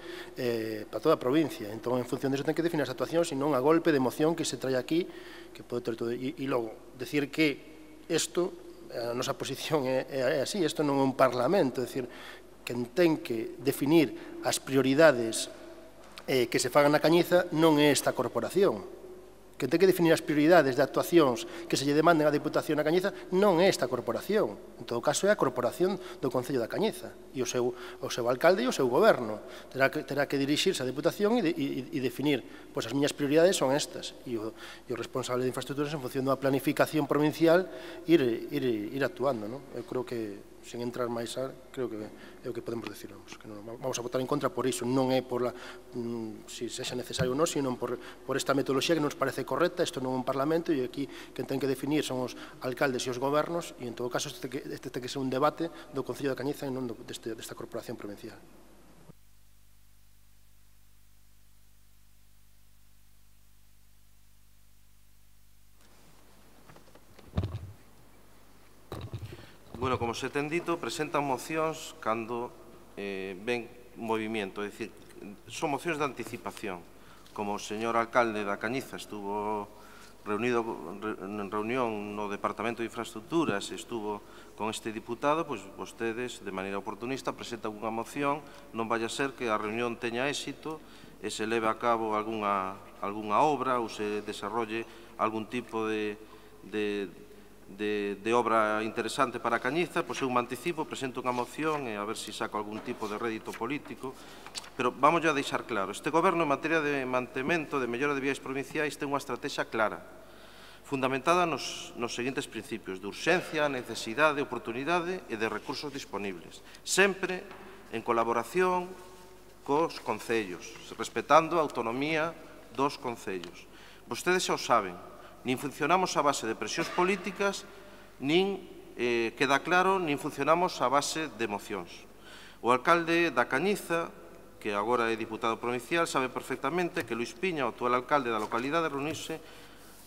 para toda a provincia. Entón, en función disso, ten que definir as actuacións e non a golpe de moción que se trae aquí, que pode ter todo. E logo, decir que isto, a nosa posición é así, isto non é un parlamento, é dicir, quen ten que definir as prioridades que se fagan na Cañiza non é esta corporación. Que ten que definir as prioridades de actuacións que se lle demanden á Diputación da Cañiza non é esta corporación. En todo caso, é a corporación do Concello da Cañiza e o seu alcalde e o seu goberno. Terá que dirixirse á Diputación e definir, pois as miñas prioridades son estas. E o responsable de infraestructuras, en función dunha planificación provincial, ir actuando. Eu creo que, sen entrar máis creo que é o que podemos decir. Vamos a votar en contra por iso. Non é por se sexa necesario ou non, sino por esta metodoloxía que nos parece correcta. Isto non é un parlamento e aquí quen ten que definir son os alcaldes e os gobernos e, en todo caso, este ten que ser un debate do Concello da Cañiza e non desta corporación provincial. Bueno, como se ten dito, presentan mocións cando ven movimento, é dicir, son mocións de anticipación. Como o señor alcalde da Cañiza estuvo reunido en reunión no Departamento de Infraestructuras e estuvo con este diputado, pois vostedes, de maneira oportunista, presentan unha moción, non vai a ser que a reunión teña éxito e se leve a cabo algunha obra ou se desarrolle algún tipo de obra interesante para a Cañiza, pois eu me anticipo, presento unha moción e a ver se saco algún tipo de rédito político. Pero vamos a deixar claro, este goberno en materia de mantemento, de mellora de vías provinciais, ten unha estrategia clara, fundamentada nos seguintes principios: de urxencia, necesidade, oportunidade e de recursos disponibles, sempre en colaboración cos concellos, respetando a autonomía dos concellos. Vostedes xa o saben, nin funcionamos a base de presións políticas, nin, queda claro, nin funcionamos a base de mocións. O alcalde da Cañiza, que agora é diputado provincial, sabe perfectamente que Luís Piña, o actual alcalde da localidade, reuniuse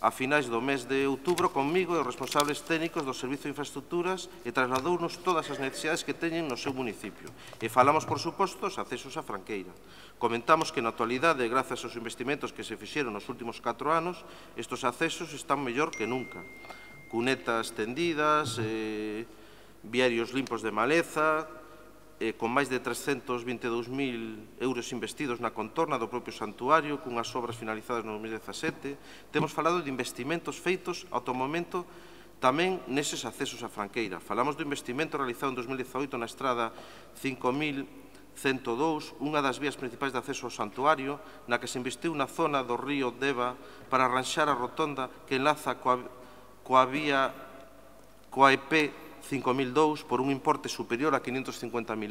a finais do mes de outubro conmigo e os responsables técnicos do Servizo de Infraestructuras e trasladounos todas as necesidades que teñen no seu municipio. E falamos, por suposto, dos accesos á Franqueira. Comentamos que na actualidade, grazas aos investimentos que se fixeron nos últimos 4 anos, estes accesos están mellor que nunca. Cunetas tendidas, viarios limpos de maleza, con máis de 322.000 euros investidos na contorna do propio santuario, cunhas obras finalizadas no 2017. Temos falado de investimentos feitos ao momento tamén neses accesos á Franqueira. Falamos do investimento realizado en 2018 na estrada 5102, unha das vías principais de acceso ao santuario, na que se investiu na zona do río Deva para arranxar a rotonda que enlaza coa EP 5002 por un importe superior a 550.000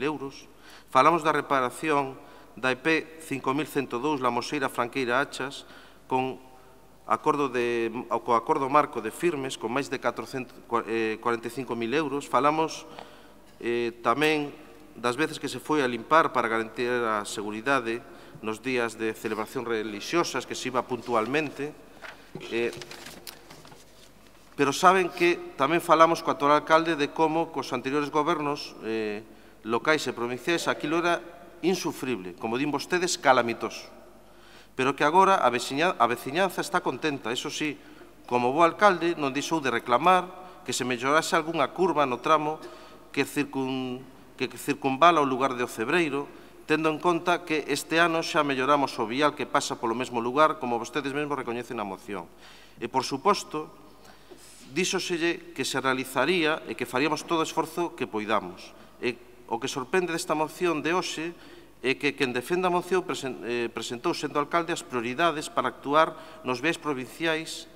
euros. Falamos da reparación da EP 5102 La Moseira Franqueira Achas co acordo marco de firmes con máis de 45.000 euros. Falamos tamén das veces que se foi a limpar para garantir a seguridade nos días de celebración religiosas, que se iba puntualmente. Pero saben que tamén falamos co actual alcalde de como cos anteriores gobernos locais e provinciais aquilo era insufrible, como din vostedes, calamitoso. Pero que agora a veciñanza está contenta. Eso sí, como bo alcalde non deixou de reclamar que se mellorase algunha curva no tramo que circunvala o lugar de Ocebreiro, tendo en conta que este ano xa melloramos o vial que pasa polo mesmo lugar, como vostedes mesmos recoñecen na moción. E, por suposto, díxoselle que se realizaría e que faríamos todo o esforzo que poidamos. E o que sorprende desta moción de hoxe é que quen defende a moción presentou, sendo alcalde, as prioridades para actuar nos viais provinciais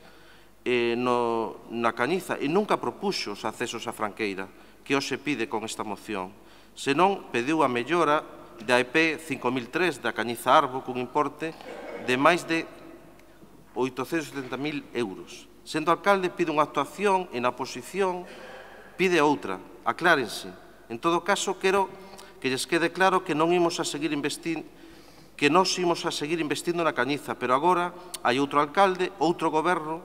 na Cañiza e nunca propuxo os accesos á Franqueira, que hoxe pide con esta moción. Senón pediu a mellora da EP 5003 da Cañiza Arbo cun importe de máis de 870.000 euros. Sendo alcalde pide unha actuación e na oposición pide outra. Aclárense. En todo caso, quero que lles quede claro que non imos a seguir investindo na Cañiza, pero agora hai outro alcalde, outro goberno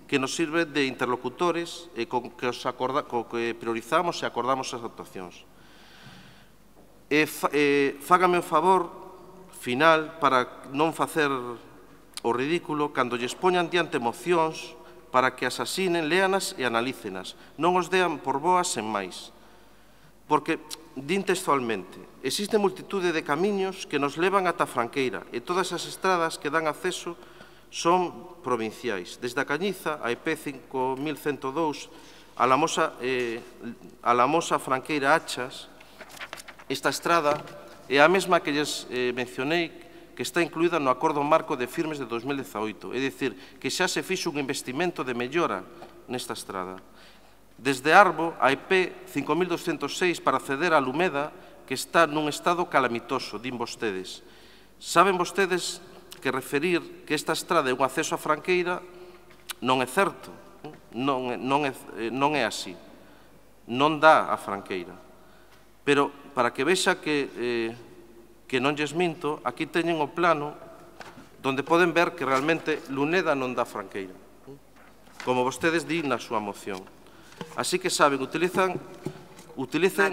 que nos sirve de interlocutores e co que priorizamos e acordamos as actuacións. Fágame o favor final para non facer o ridículo cando lles poñan diante mocións para que as asinen, léanas e analícenas. Non os dean por boas sen máis. Porque, din textualmente, existe multitude de camiños que nos levan ata Franqueira e todas as estradas que dan acceso son provinciais. Desde a Cañiza, a EP 5102, a la Mosa Franqueira Achas, esta estrada é a mesma que lles mencionei que está incluída no Acordo Marco de Firmes de 2018, é dicir, que xa se fixo un investimento de mellora nesta estrada. Desde Arbo, a EP 5206 para acceder a Lumeda, que está nun estado calamitoso, din vostedes. Saben vostedes que referir que esta estrada é un acceso a Franqueira non é certo, non é así, non dá a Franqueira. Pero, para que vexa que non lles minto, aquí teñen o plano donde poden ver que realmente Luneda non dá Franqueira, como vostedes din na súa moción. Así que saben, utilicen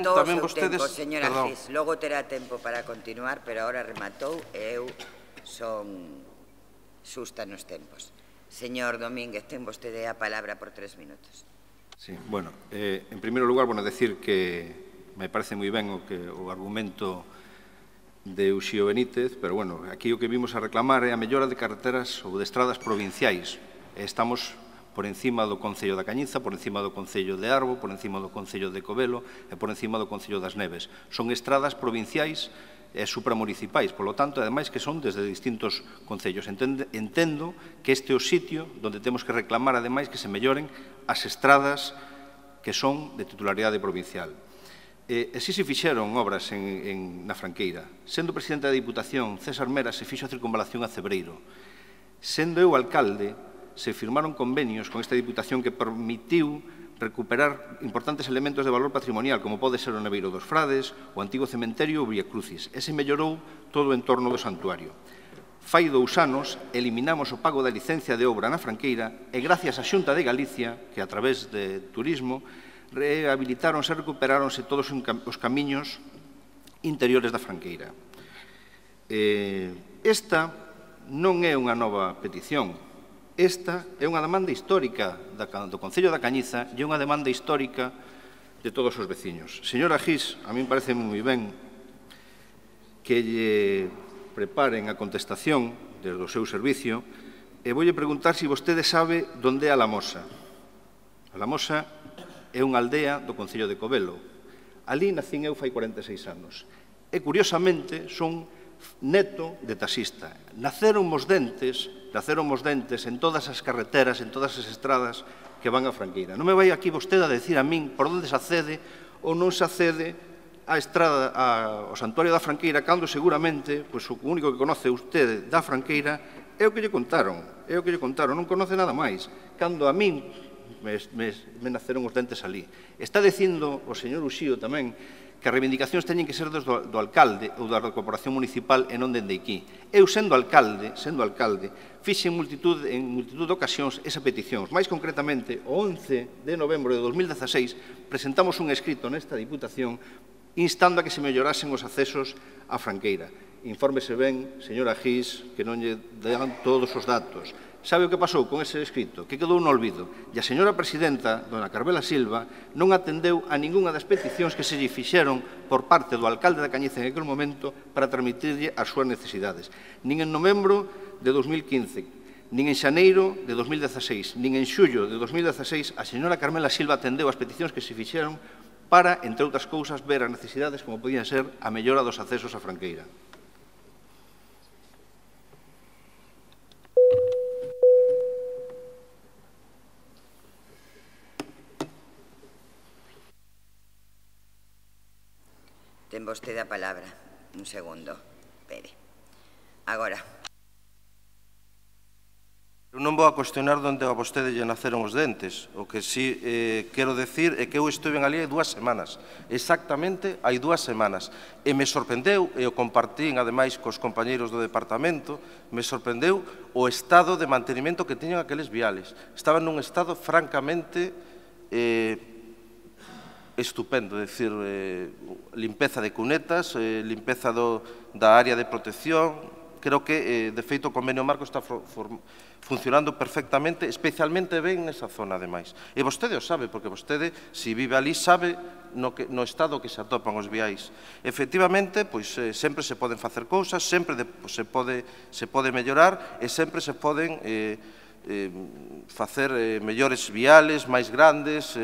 tamén vostedes... Señora Gis, logo terá tempo para continuar, pero agora rematou e eu son xusta nos tempos. Señor Domínguez, ten vostede a palabra por 3 minutos. Sí, bueno, en primeiro lugar, decir que me parece moi ben o argumento de Uxío Benítez, pero, aquí o que vimos a reclamar é a mellora de carreteras ou de estradas provinciais. Estamos por encima do Concello da Cañiza, por encima do Concello de Arbo, por encima do Concello de Covelo e por encima do Concello das Neves. Son estradas provinciais e supramunicipais, polo tanto, ademais que son desde distintos concellos. Entendo que este é o sitio onde temos que reclamar, ademais, que se melloren as estradas que son de titularidade provincial. si se fixeron obras na Franqueira. Sendo presidente da Diputación, César Mera se fixo a circunvalación a Cebreiro. Sendo eu alcalde, se firmaron convenios con esta Diputación que permitiu recuperar importantes elementos de valor patrimonial, como pode ser o Neveiro dos Frades, o antigo cementerio ou Vía Crucis. E se mellorou todo o entorno do santuario. Fai 2 anos, eliminamos o pago da licencia de obra na Franqueira e gracias á Xunta de Galicia, que a través de turismo, rehabilitáronse e recuperáronse todos os camiños interiores da Franqueira. Esta non é unha nova petición. Esta é unha demanda histórica do Concello da Cañiza e unha demanda histórica de todos os veciños. Señora Gis, a mí me parece moi ben que lle preparen a contestación desde o seu servicio e voulle preguntar se vostede sabe onde é a Lamosa. A Lamosa é unha aldea do Concello de Covelo. Ali nacín eu fai 46 anos. E, curiosamente, son neto de taxista. Naceron mos dentes en todas as carreteras, en todas as estradas que van a Franqueira. Non me vai aquí vostede a decir a min por onde se accede ou non se accede á estrada, ao santuario da Franqueira, cando seguramente o único que conoce usted da Franqueira é o que lle contaron, non conoce nada máis. Cando a min me naceron os dentes ali. Está dicindo o señor Uxío tamén que as reivindicacións teñen que ser do alcalde ou da corporación municipal e non dende aquí. Eu, sendo alcalde, fixe en multitud de ocasións esa petición. Mais concretamente, o 11 de novembro de 2016, presentamos un escrito nesta Diputación instando a que se mellorasen os accesos á Franqueira. Infórmese ben, señora Gis, que non lle dan todos os datos. Sabe o que pasou con ese escrito? Que quedou no olvido. E a señora presidenta, dona Carmela Silva, non atendeu a ningunha das peticións que se lle fixeron por parte do alcalde da Cañiza en aquel momento para transmitirlle as súas necesidades. Nin en novembro de 2015, nin en xaneiro de 2016, nin en xullo de 2016, a señora Carmela Silva atendeu as peticións que se fixeron para, entre outras cousas, ver as necesidades como podían ser a mellora dos accesos á Franqueira. Ten vostede a palabra. Un segundo. Espere. Agora. Eu non vou a cuestionar onde a vostede lle naceron os dentes. O que sí quero decir é que eu estuve en ali hai 2 semanas. Exactamente hai 2 semanas. E me sorprendeu, e o compartín ademais cos compañeiros do departamento, me sorprendeu o estado de mantenimento que tiñan aqueles viales. Estaban nun estado francamente estupendo, é dicir, limpeza de cunetas, limpeza da área de protección. Creo que, de feito, o convenio marco está funcionando perfectamente, especialmente ben nesa zona, ademais. E vostede o sabe, porque vostede, se vive ali, sabe no estado que se atopan os viais. Efectivamente, pois, sempre se poden facer cousas, sempre se pode mellorar e sempre se poden facer mellores viales, máis grandes,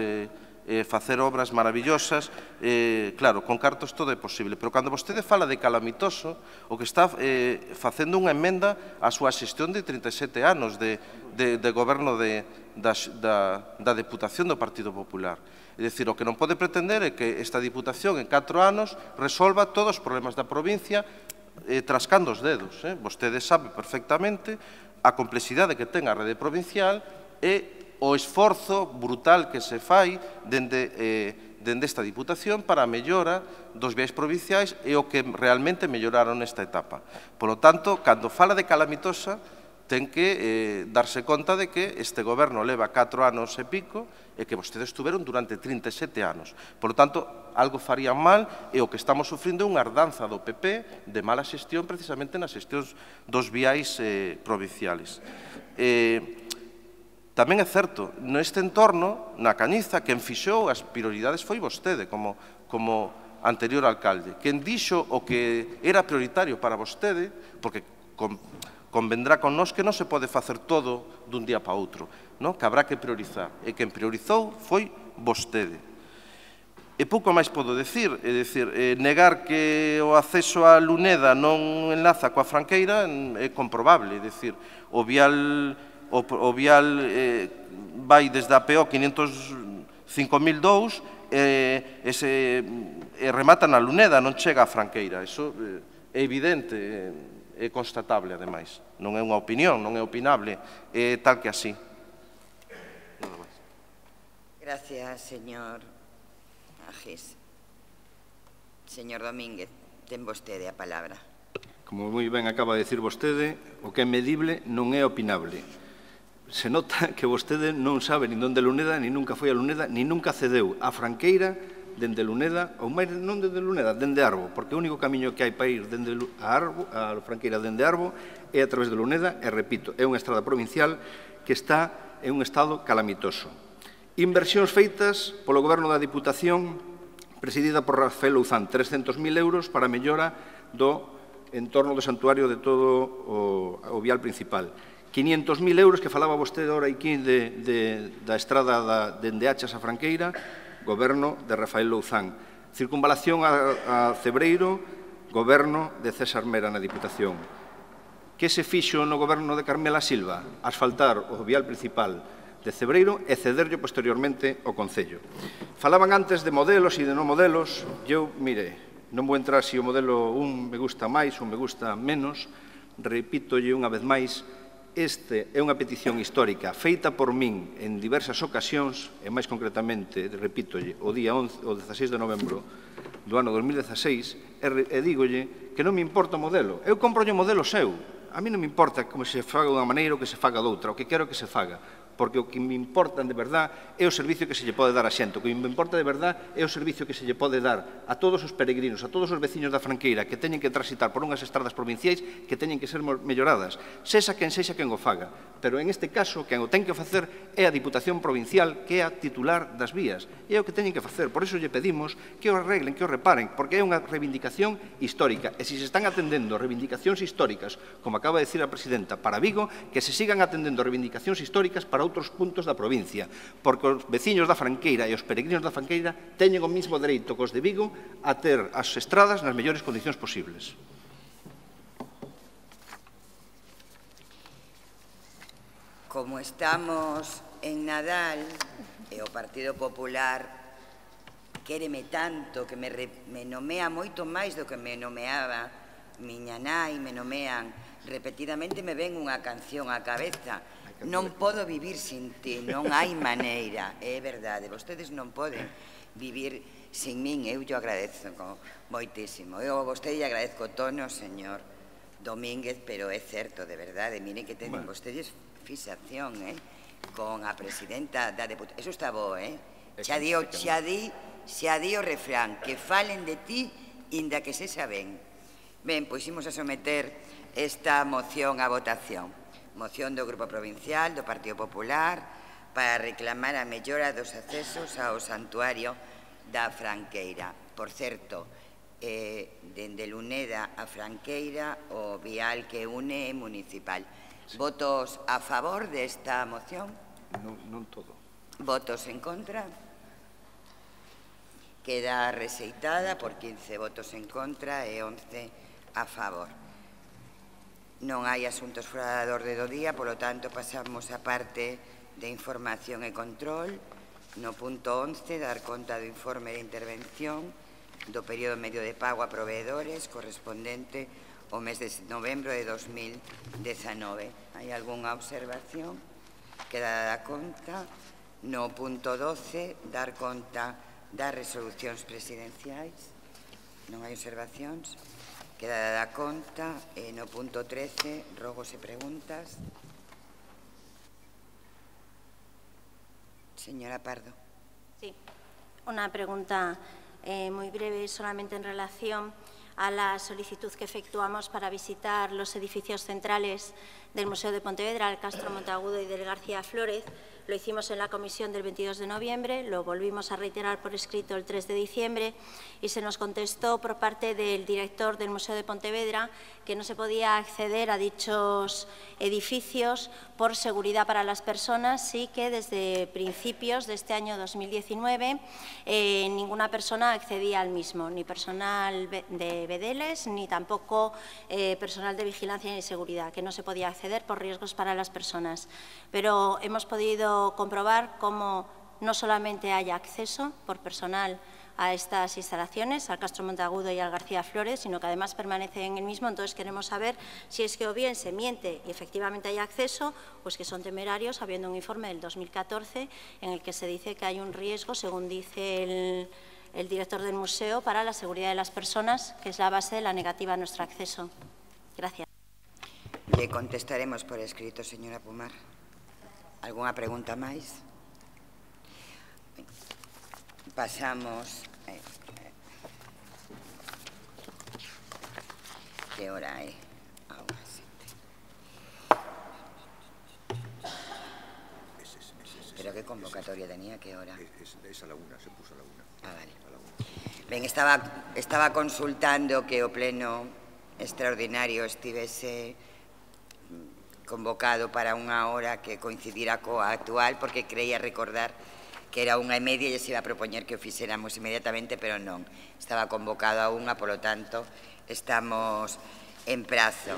facer obras maravillosas, claro, con cartos todo é posible, pero cando vostede fala de calamitoso, o que está facendo unha emenda á súa xestión de 37 anos de goberno da Deputación do Partido Popular. É dicir, o que non pode pretender é que esta Diputación en 4 anos resolva todos os problemas da provincia trascando os dedos. Vostede sabe perfectamente a complexidade que ten a rede provincial e o esforzo brutal que se fai dende esta Diputación para a mellora dos viais provinciais e o que realmente melloraron nesta etapa. Por lo tanto, cando fala de calamitosa, ten que darse conta de que este goberno leva 4 anos e pico e que vostedes estuveron durante 37 anos. Por lo tanto, algo farían mal e o que estamos sufrindo é unha herdanza do PP de mala xestión precisamente nas xestións dos viais provinciales. Tamén é certo, neste entorno, na Cañiza, quen fixou as prioridades foi vostede, como anterior alcalde. Quen dixo o que era prioritario para vostede, porque convendrá con nós que non se pode facer todo dun día para outro, que habrá que priorizar. E quen priorizou foi vostede. E pouco máis podo decir, é dicir, negar que o acceso a Luneda non enlaza coa Franqueira é comprobable, é dicir, o vial vai desde a PO 500 5.002 e remata na Luneda, non chega a Franqueira. Iso é evidente, é constatable, ademais. Non é unha opinión, non é opinable, é tal que así. Gracias, señor Agis. Señor Domínguez, ten vostede a palabra. Como moi ben acaba de dicir vostede, o que é medible non é opinable. Se nota que vostede non sabe nin onde Luneda, nin nunca foi a Luneda, nin nunca cedeu a Franqueira dende Luneda, ou máis non dende Luneda, dende Arbo, porque o único camiño que hai para ir dende a Franqueira dende Arbo é a través de Luneda, e repito, é unha estrada provincial que está en un estado calamitoso. Inversións feitas polo Goberno da Diputación, presidida por Rafael Louzán, 300.000 euros para a mellora do entorno do santuario de todo o vial principal. 500.000 euros que falaba vostede ahora aquí da estrada dende Achas a Franqueira, Goberno de Rafael Louzán. Circunvalación a Cebreiro, Goberno de César Mera na Diputación. Que se fixo no Goberno de Carmela Silva? Asfaltar o vial principal de Cebreiro e cederlo posteriormente ao Concello. Falaban antes de modelos e de non modelos. Eu, mire, non vou entrar se o modelo un me gusta máis ou me gusta menos. Repítolle unha vez máis, este é unha petición histórica feita por min en diversas ocasións, e máis concretamente, repítolle, o día 16 de novembro do ano 2016, e dígolle que non me importa o modelo. Eu comprolle o modelo seu. A mí non me importa como se faga dunha maneira ou que se faga doutra, o que quero que se faga. Porque o que me importa de verdad é o servicio que se lle pode dar a xente. O que me importa de verdad é o servicio que se lle pode dar a todos os peregrinos, a todos os veciños da Franqueira que teñen que transitar por unhas estradas provinciais que teñen que ser melloradas, sexa quen o faga. Pero en este caso, quen o ten que facer é a Diputación Provincial, que é a titular das vías. E é o que teñen que facer. Por iso lle pedimos que o arreglen, que o reparen, porque é unha reivindicación histórica. E se se están atendendo reivindicacións históricas, como acaba de decir a presidenta, para Vigo, que se sigan atendendo reivindicacións históricas para outros puntos da provincia, porque os veciños da Franqueira e os peregrinos da Franqueira teñen o mismo dereito que os de Vigo a ter as estradas nas mellores condicións posibles. Como estamos en Nadal e o Partido Popular quéreme tanto que me nomea moito máis do que me nomeaba miña nai, me nomean repetidamente, me ven unha canción á cabeza. Non podo vivir sin ti, non hai maneira. É verdade, vostedes non poden vivir sin min. Eu lle agradezo moitísimo. Eu a vostede lle agradezco o tono, señor Domínguez, pero é certo, de verdade. Miren que teñen vostedes fixación con a presidenta da Deputación. Eso está bo, xa di o refrán, que falen de ti inda que se saben. Ben, pois imos a someter esta moción a votación. Moción do Grupo Provincial do Partido Popular para reclamar a mellora dos accesos ao santuario da Franqueira. Por certo, dende Luneda a Franqueira o vial que une é municipal. Votos a favor desta moción? Non todo. Votos en contra? Queda rexeitada por 15 votos en contra e 11 a favor. Non hai asuntos fora da orde do día, polo tanto, pasamos a parte de información e control. No punto 11, dar conta do informe de intervención do período medio de pago a proveedores correspondente ao mes de novembro de 2019. Hai algunha observación? Queda dada conta. No punto 12, dar conta das resolucións presidenciais. Non hai observacións? Queda dada conta. No punto 13, rogos e preguntas. Señora Pardo. Sí, una pregunta muy breve, solamente en relación a la solicitud que efectuamos para visitar los edificios centrales del Museo de Pontevedra, el Castro Monteagudo y del García Flórez. Lo hicimos en la comisión del 22 de noviembre, lo volvimos a reiterar por escrito el 3 de diciembre y se nos contestó por parte del director del Museo de Pontevedra que no se podía acceder a dichos edificios por seguridad para las personas y que desde principios de este año 2019 ninguna persona accedía al mismo, ni personal de bedeles ni tampoco personal de vigilancia y seguridad, que no se podía acceder por riesgos para las personas. Pero hemos podido comprobar cómo no solamente haya acceso por personal a estas instalaciones, al Castro Monteagudo y al García Flores, sino que además permanece en el mismo. Entonces queremos saber si es que o bien se miente y efectivamente hay acceso, o es que son temerarios, habiendo un informe del 2014 en el que se dice que hay un riesgo, según dice el director del museo, para la seguridad de las personas, que es la base de la negativa a nuestro acceso. Gracias. Le contestaremos por escrito, señora Pomar. ¿Alguna pregunta máis? Pasamos... ¿Qué hora é? ¿Pero qué convocatoria tenía? ¿Qué hora? Es a la 1, se puso a la 1. Ah, vale. Ben, estaba consultando que o pleno extraordinario estivese convocado para unha hora que coincidira coa actual, porque creía recordar que era 1:30 e se iba a propoñer que o fixéramos inmediatamente, pero non. Estaba convocado a 1, polo tanto, estamos en prazo.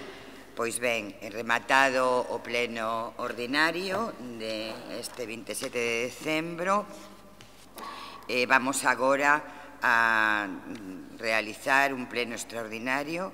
Pois ben, rematado o pleno ordinario deste 27 de decembro, vamos agora a realizar un pleno extraordinario